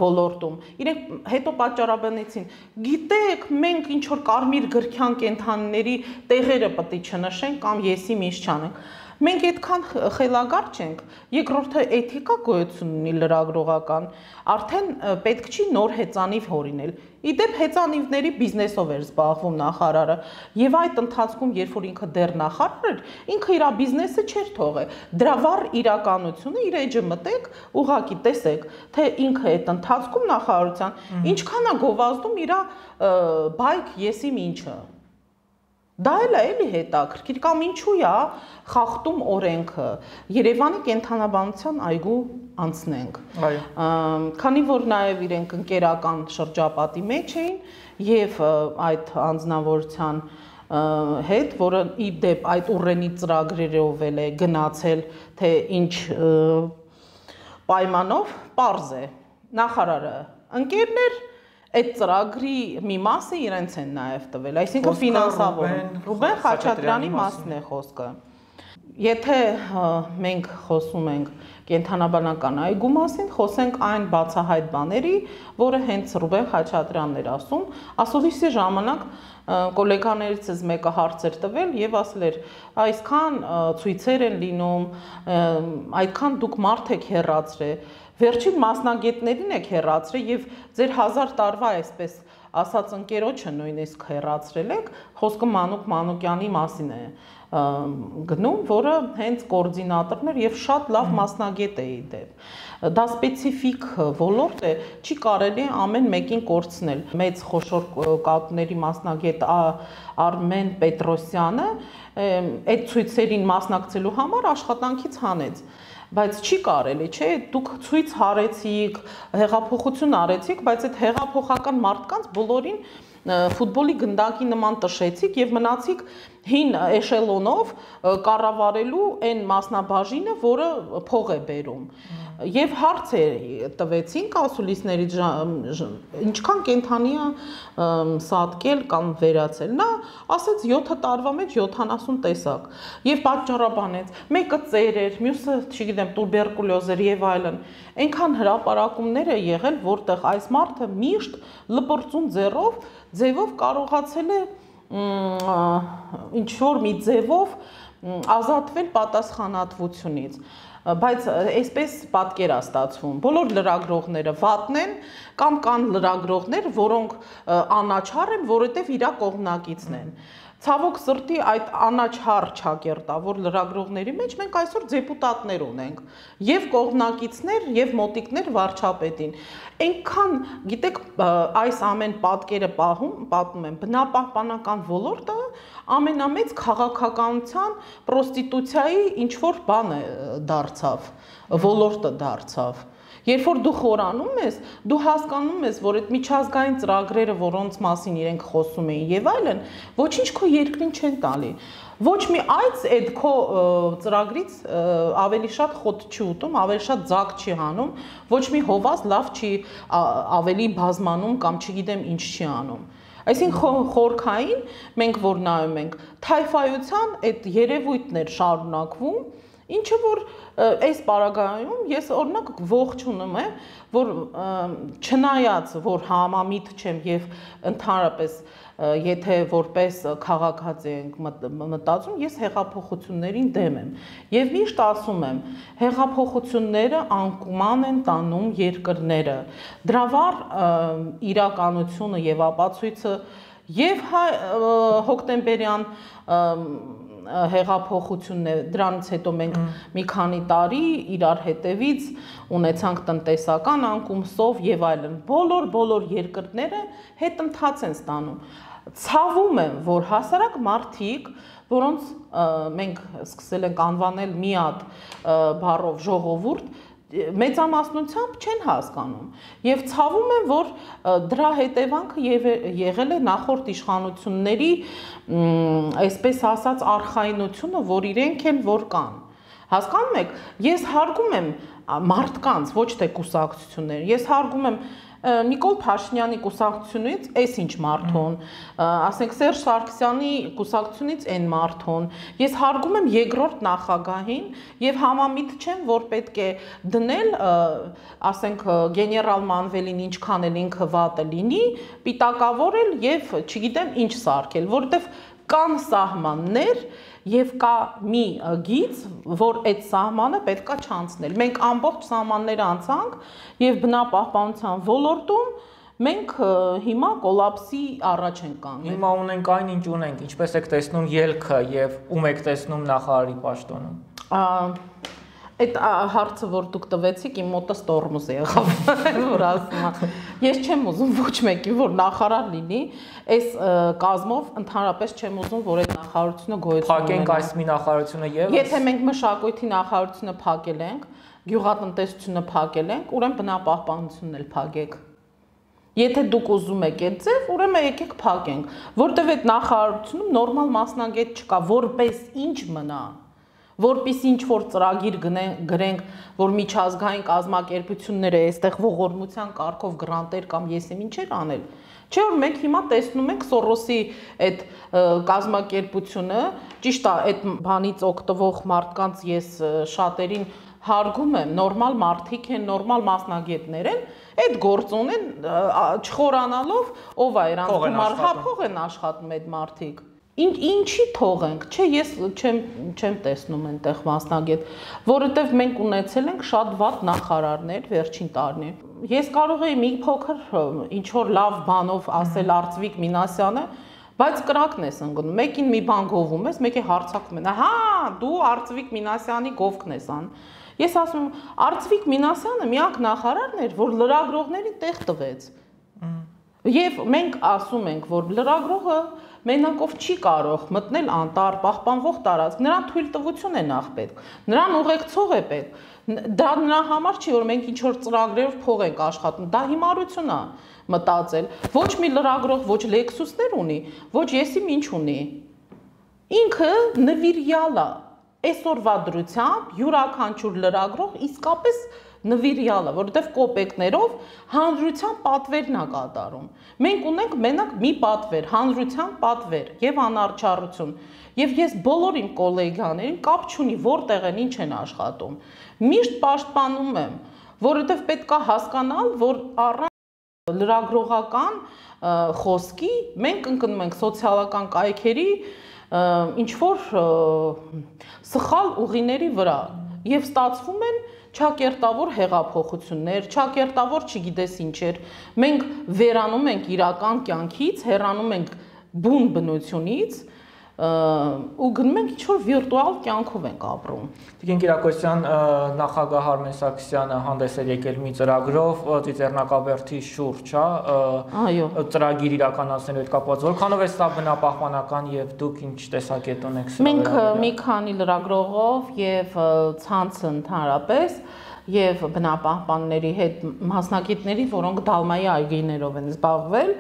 ոլորտում։ Իրենք հետո պատճառաբանեցին, գիտեք, մենք ինչ որ կարմիր գրքյան կենդանիների տեղերը պետք է չնշենք կամ եսի միշտ չանենք։ Մենք այդքան խելագար չենք, երկրորդը էթիկա գոյություն ունի լրագրողական, արդեն պետք չի նոր հեծանիվ հորինել։ Իդեպ հեծանիվների բիզնեսով էր զբաղվում նախարարը, եւ այդ ընթացքում, երբ որ ինքը դեռ նախարար էր, ինքը իր բիզնեսը չէր թողել։ Դրա վառ իրականությունը իր էջը մտեք, ուղակի տեսեք, թե ինքը այդ ընթացքում նախարարության ինչքան է գովազդում իր բայկ եսի ինչը։ Դա էլ է էլի հետաքրքիր, կամ ինչու է խախտում օրենքը։ Երևանի կենդանաբանության այգու անցնենք։ Քանի որ նաև իրենք ընկերական շրջապատի մեջ էին եւ այդ անձնավորության հետ, որը ի դեպ այդ ուռենի ծրագրերով էլ է գնացել, թե ինչ պայմանով, պարզ է, նախարարը ընկերներ այդ ծրագրի մի մասը իրենց են նաև տվել, այսինքն ֆինանսավոր Ռուբեն Խաչատրյանի մասն է խոսքը։ Եթե մենք խոսում ենք կենդանաբանական այգու մասին, խոսենք այն բացահայտ բաների, որը հենց Ռուբեն Խաչատրյանն էր ասում, ասուլիսի ժամանակ կոլեգաներիցս մեկը հարց էր տվել եւ ասել էր, այսքան ցույցեր են լինում, այդքան դուք մարդ եք հեռացրել, վերջին մասնագետներին եք հեռացրել եւ ձեր հազար տարվա այսպես ասած ընկերոջը նույնիսկ հեռացրել եք, խոսքը Մանուկ Մանուկյանի մասին է գնում, որը հենց կոորդինատորն էր եւ շատ լավ մասնագետ է իդեպ։ Դա սպეციფიկ ոլորտ է, չի կարելի ամեն մեկին կորցնել։ Մեծ խոշոր կատուների մասնագետ Արմեն Պետրոսյանը այդ ցույցերին մասնակցելու համար աշխատանքից հանեց, բայց չի կարելի, չէ, դուք ցույց հարեցիք, հեղափոխություն արեցիք, բայց այդ հեղափոխական մարդկանց բոլորին ֆուտբոլի գնդակի նման տշեցիք եւ մնացիք հին էշելոնով կառավարելու այն մասնաբաժինը, որը փող է բերում։ Եվ հարց է տվեցին կասուլիսներից ինչքան կենթանի է սատկել կամ վերացել։ Նա ասաց յոթ տարվա մեջ յոթանասուն տեսակ եւ պատճառաբանեց։ Մեկը ծեր էր, մյուսը, չգիտեմ, տուբերկուլյոզ էր եւ այլն։ Այնքան հրապարակումներ է եղել, որտեղ այս մարդը միշտ լպրծուն ձեռով ձևով կարողացել է ինչ որ մի ձևով ազատվել պատասխանատվությունից, բայց այսպես պատկեր է ստացվում, բոլոր լրագրողները վատն են կամ կան լրագրողներ, որոնք անաչառ են, որովհետև իրա կողմնակիցն են։ Ցավոք սրտի այդ անաչառ ճակերտավոր լրագրողների մեջ մենք այսօր դեպուտատներ ունենք, եւ կողմնակիցներ, եւ մոտիկներ վարչապետին։ Այնքան, գիտեք, այս ամեն պատկերը պահում, պատմում են, բնապահպանական ոլորտը ամենամեծ քաղաքականության պրոստիտուցիայի ինչ որ բան է դարձավ, ոլորտը դարձավ։ Երբ որ դու խորանում ես, դու հասկանում ես, որ այդ միջազգային ծրագրերը, որոնց մասին իրենք խոսում էին եւ այլն, ոչինչ քո երկրին չեն տալի։ Ոչ մի այց այդ քո ծրագրից ավելի շատ խոտ չի ուտում, ավելի շատ ձակ չի հանում, ոչ մի հովազ լավ չի ավելի բազմանում կամ չգիտեմ ինչ չի անում։ Այսինքն խորքային մենք որ նայում ենք, թայֆայության այդ երևույթներ շարունակվում, ինչը որ այս պարագայում ես օրինակ ողջունում եմ, որ չնայած որ համամիտ չեմ եւ ընդհանրապես եթե որպես քաղաքացի ենք մտածում, ես հեղափոխություններին դեմ եմ եւ միշտ ասում եմ, հեղափոխությունները անկուման են տանում երկրները, դրա վառ իրականությունը եւ ապացույցը եւ հոկտեմբերյան հեղափոխությունն է, դրանից հետո մենք մի քանի տարի իրար հետևից ունեցանք տնտեսական անկում, սով եւ այլն, բոլոր բոլոր երկրները հետընթաց են ստանում։ Ցավում եմ, որ հասարակ մարդիկ, որոնց մենք սկսել ենք անվանել մի հատ բառով ժողովուրդ, մեծամասնությամբ չեն հասկանում եւ ցավում եմ, որ դրա հետևանքը եղել է նախորդ իշխանությունների այսպես ասած արխայնությունը, որ իրենք են որ կան։ Հասկանում եք, ես հարգում եմ մարդկանց, ոչ թե կուսակցություններ, ես հարգում եմ Նիկոլ Փաշինյանի կուսակցությունից այս ինչ մարդուն, ասենք Սերժ Սարգսյանի կուսակցությունից այն մարդուն, ես հարգում եմ երկրորդ նախագահին եւ համամիտ չեմ, որ պետք է դնել, ասենք գեներալ Մանվելին ինչքան էլ ինքը վատը լինի, պիտակավորել եւ չգիտեմ ինչ սարքել, որովհետեւ կան սահմաններ եւ կա մի գիծ, որ այդ սահմանը պետքա չանցնել։ Մենք ամբողջ սահմանները անցանք եւ բնապահպանության ոլորտում մենք հիմա կոլապսի առաջ ենք կանգնել։ Հիմա ունենք այն ինչ ունենք, ինչպես եք տեսնում ելքը եւ ում եք տեսնում նախարարի պաշտոնում։ Այդ հարցը, որ դուք տվեցիք, իմ մոտս տորմուզ եղավ, որ ասում եմ, ես չեմ ուզում ոչ մեկին, որ նախարար լինի, այս կազմով ընդհանրապես չեմ ուզում, որ այդ նախարարությունը գոյություն ունենա։ Փակենք այս մի նախարարությունը եւ Եթե մենք մշակույթի նախարարությունը փակել ենք, գյուղատնտեսությունը փակել ենք, ուրեմն բնապահպանությունն էլ փակեք։ Եթե դուք ուզում եք այդ ձև, ուրեմն եկեք փակենք, որտեվ այդ նախարարությունում նորմալ մասնագետ չկա, որպես ինչ մնա։ Որպես ինչ որ ծրագիր գրենք, որ միջազգային կազմակերպությունները այստեղ ողորմության կարգով գրանտեր կամ եսեմ ինչեր անել։ Չէ՞ որ մենք հիմա տեսնում ենք Սորոսի այդ կազմակերպությունը, ճիշտ է, այդ բանից օգտվող մարդկանց ես շատերին հարգում եմ, նորմալ մարդիկ են, նորմալ մասնագետներ են, այդ գործ ունեն չխորանալով, ով է իրանք գումար հափող են աշխատում այդ մարդիկ։ Ինչ ինչի թողենք, չէ, ես չեմ չեմ տեսնում այնտեղ մասնագետ, որովհետև մենք ունեցել ենք շատ վատ նախարարներ վերջին տարիներին։ Ես կարող եի մի փոքր ինչ որ լավ բանով ասել Արծվիկ Մինասյանը, բայց կրակն ես ընկնում։ Մեկին մի բան գովում ես, մեկը հարցակում են։ Հա, դու Արծվիկ Մինասյանի գովքն ես ան։ Ես ասում եմ, Արծվիկ Մինասյանը միակ նախարարն էր, որ լրագրողներին տեղ տվեց։ Եվ մենք ասում ենք, որ լրագրողը մենակով չի կարող մտնել անտառ, պահպանվող տարածք, նրան թույլտվություն է նախ պետք, նրան ուղեկցող է պետք, դա նրա համար չի, որ մենք ինչ-որ ծրագրերով փող ենք աշխատում, դա հիմարություն է մտածել, ոչ մի լրագրող, ոչ լեքսուսներ ունի, ոչ եսիմ ինչ ունի, ինքը նվիրյալ է, այսօրվա դրությամբ յուրաքանչյուր լրագրող իսկապես նվիրյալը, որովհետև կոպեկներով հանրության պատվերն է կատարում։ Մենք ունենք մենակ մի պատվեր, հանրության պատվեր եւ անարչարություն։ Եվ ես բոլոր իմ գոլեգաներին կապ չունի որտեղ են, ինչ են աշխատում։ Միշտ պաշտպանում եմ, որովհետև պետք է հասկանալ, որ առանց լրագրողական խոսքի մենք ընկնում ենք սոցիալական կայքերի ինչ որ սխալ ուղիների վրա եւ ստացվում են չակերտավոր հեղափոխություններ, չակերտավոր չգիտես ինչեր։ Մենք վերանում ենք իրական կյանքից, հեռանում ենք բուն բնությունից ու գնում ենք ինչ-որ վիրտուալ կյանքով ենք ապրում։ Տիկին Կիրակոսյան, նախագահ Արմեն Սարգսյանը հանդես էր եկել մի ծրագրով Ծիծեռնակաբերդի շուրջ, այո, ծրագիր իրականացնելու հետ կապված, որքանով է սա բնապահպանական եւ դուք ինչ տեսակետ ունեք սրա վերաբերյալ։ Մենք մի քանի լրագրողով եւ ցանցը ընդհանրապես եւ բնապահպանների հետ մասնագետների, որոնք Դալմայի այգիներով են զբաղվել,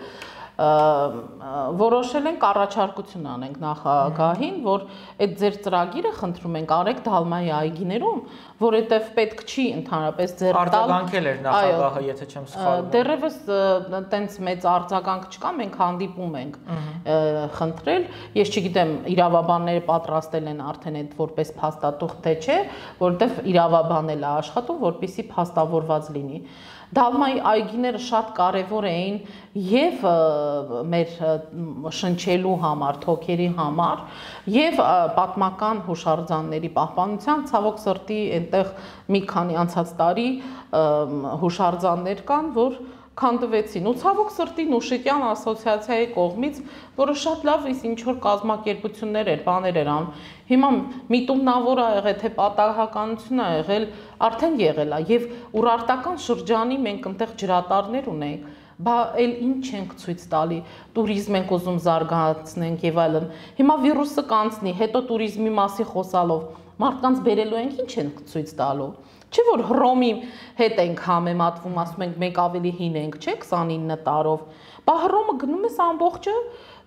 որոշել ենք առաջարկություն անենք նախագահին, որ այդ ձեր ծրագիրը խնդրում ենք արեք Դալմայի այգիներում, որովհետև պետք չի ընդհանրապես ձեր տալ։ Արձագանքել էր նախագահը, եթե չեմ սխալվում։ Դեռևս տենց մեծ արձագանք չկա, մենք հանդիպում ենք խնդրել։ Ես չգիտեմ, իրավաբանները պատրաստել են արդեն այդ որպես փաստաթուղթ թե չէ, որովհետև իրավաբան էլ է աշխատում, որպեսզի փաստավորված լինի։ Դալմայի այգիները շատ կարևոր էին եւ մեր շնչելու համար, թոքերի համար եւ պատմական հուշարձանների պահպանության, ցավոք սրտի այնտեղ մի քանի անցած տարի հուշարձաններ կան, որ քանդվեցին ու ցավոք սրտի Նուշիկյան ասոցիացիայի կողմից, որը շատ լավ ինչ որ կազմակերպություններ էր, բաներ էր անում։ Հիմա միտումնավոր ա եղել, թե պատահականություն ա եղել, արդեն եղել ա եւ ուրարտական շրջանի մենք այնտեղ ջրատարներ ունենք, բա էլ ինչ ենք ցույց տալի, տուրիզմ ենք ուզում զարգացնենք եւ այլն։ Հիմա վիրուսը կանցնի, հետո տուրիզմի մասի խոսալով մարդկանց բերելու ենք, ինչ ենք ցույց տալու։ Չէ՞ որ Հռոմի հետ ենք համեմատվում, ասում ենք մենք ավելի հին ենք, չէ՞, քսանինը տարով։ Բա Հռոմը գնում ես ամբողջը,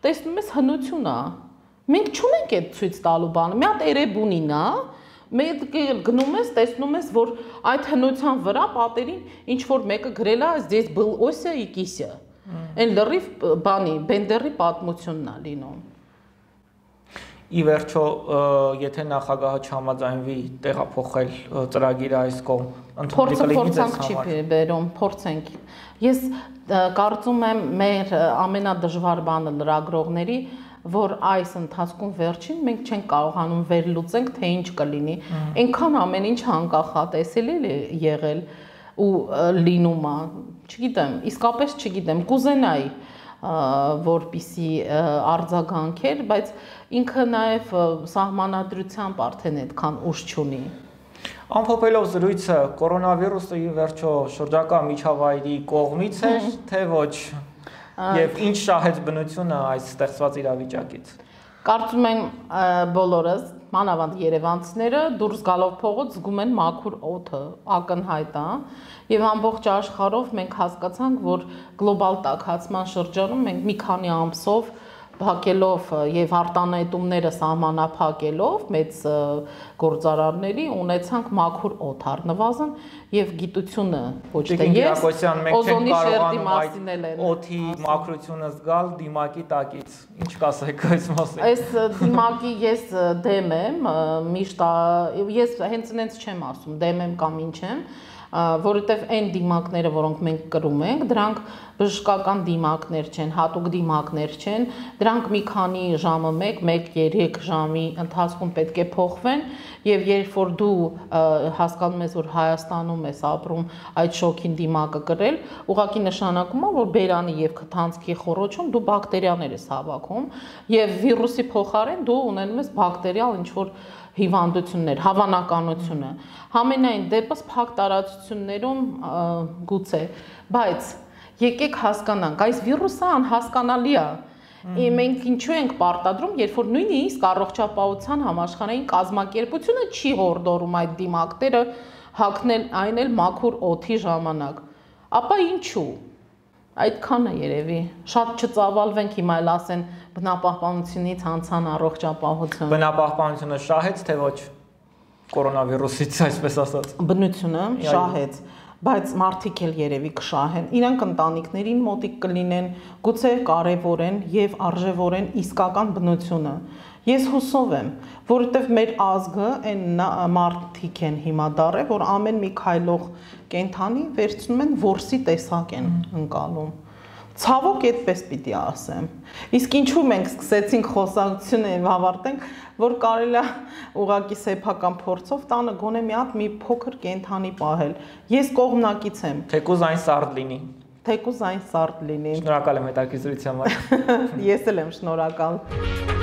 տեսնում ես հնություն է։ Մենք չունենք այդ ցույց տալու բանը։ Մի հատ Էրեբունին է, մեկ գնում ես, տեսնում ես, որ այդ հնության վրա պատերին ինչ որ մեկը գրել է, здесь был Ося и Кися։ Այն լրիվ բանի, Բենդերի պատմությունն է լինում։ Ի վերջո, եթե նախագահը չհամաձայնվի տեղափոխել ծրագիրը այս կողմ, ընդհանրապես փորձանք չի բերում, փորձենք։ Ես կարծում եմ մեր ամենադժվար բանը լրագրողների, որ այս ընթացքում վերջին մենք չենք կարողանում վերլուծենք, թե ինչ կլինի։ Այնքան ամեն ինչ անկախատեսելի է եղել ու լինում է, չգիտեմ, իսկապես չգիտեմ, կուզենայի որպիսի արձագանքեր, բայց ինքը նաև սահմանադրությամբ արդեն այդքան ուժ չունի։ Ամփոփելով զրույցը, կորոնավիրուսը ի վերջո շրջակա միջավայրի կողմից էր, թե ոչ, եւ ինչ շահեց բնությունը այս ստեղծված իրավիճակից։ Կարծում եմ բոլորս, մանավանդ երևանցիները դուրս գալով փողոց զգում են մաքուր օդը, ակնհայտ է, եւ ամբողջ աշխարհով մենք հասկացանք, որ գլոբալ տաքացման շրջանում մենք մի քանի ամսով փակելով եւ արտանետումները սահմանափակելով մեծ գործարարների ունեցանք մաքուր օդ առնվազն եւ գիտությունը ոչ թե ես օզոնի շերտի մասին էլ են օդի մաքրությունը զգալ դիմակի տակից ինչ կասեք այս մասին։ Այս դիմակի ես դեմ եմ, միշտ ես հենց այնց չեմ ասում, դեմ եմ կամ ինչ եմ, որովհետև այն դիմակները, որոնք մենք կրում ենք, դրանք բժշկական դիմակներ չեն, հատուկ դիմակներ չեն, դրանք մի քանի ժամը մեկ, մեկ-երեք ժամի ընթացքում պետք է փոխվեն, եւ երբ որ դու հասկանում ես, որ Հայաստանում ես ապրում այդ շոքին դիմակը կրել, ուղղակի նշանակում է, որ բերանի եւ քթանցքի խոռոչում դու բակտերիաներ ես հավաքում եւ վիրուսի փոխարեն դու ունենում ես բակտերիալ ինչ-որ հիվանդություններ, հավանականությունը։ Համենայն դեպս փակ տարածություններում գուցե, բայց եկեք հասկանանք, այս վիրուսը անհասկանալի է։ Մենք ինչու ենք պարտադրում, երբ որ նույնիսկ առողջապահության համաշխարհային կազմակերպությունը չի հորդորում այդ դիմակները հագնել այն էլ մաքուր օդի ժամանակ։ Ապա ինչու։ Այդքանը երևի, շատ չծավալվենք հիմա էլ ասեն բնապահպանությունից անցան առողջապահություն։ Բնապահպանությունը շահեց թե ոչ։ կորոնավիրուսից, այսպես ասած։ Բնությունը շահեց, բայց մարդիկ էլ երևի կշահեն։ Իրանք ընտանիքներին մոտիկ կլինեն, գուցե կարևորեն եւ արժևորեն իսկական բնությունը։ Ես հուսով եմ, որովհետեւ մեր ազգը այն մարդիկ են հիմա դարը, որ ամեն մի քայլող կենթանի վերցնում են որսի տեսակ են ընկալում։ Ցավոք այդպես պիտի ասեմ։ Իսկ ինչու մենք սկսեցինք խոսակցությունը եւ հավարտենք, որ կարելի է ուղակի սեփական փորձով տանը գոնե մի հատ մի փոքր կենթանի պահել։ Ես կողմնակից եմ։ Թեկուզ այն սարդ լինի։ Թեկուզ այն սարդ լինի։ Շնորհակալ եմ հետաքրքրության համար։ Ես էլ եմ շնորհակալ։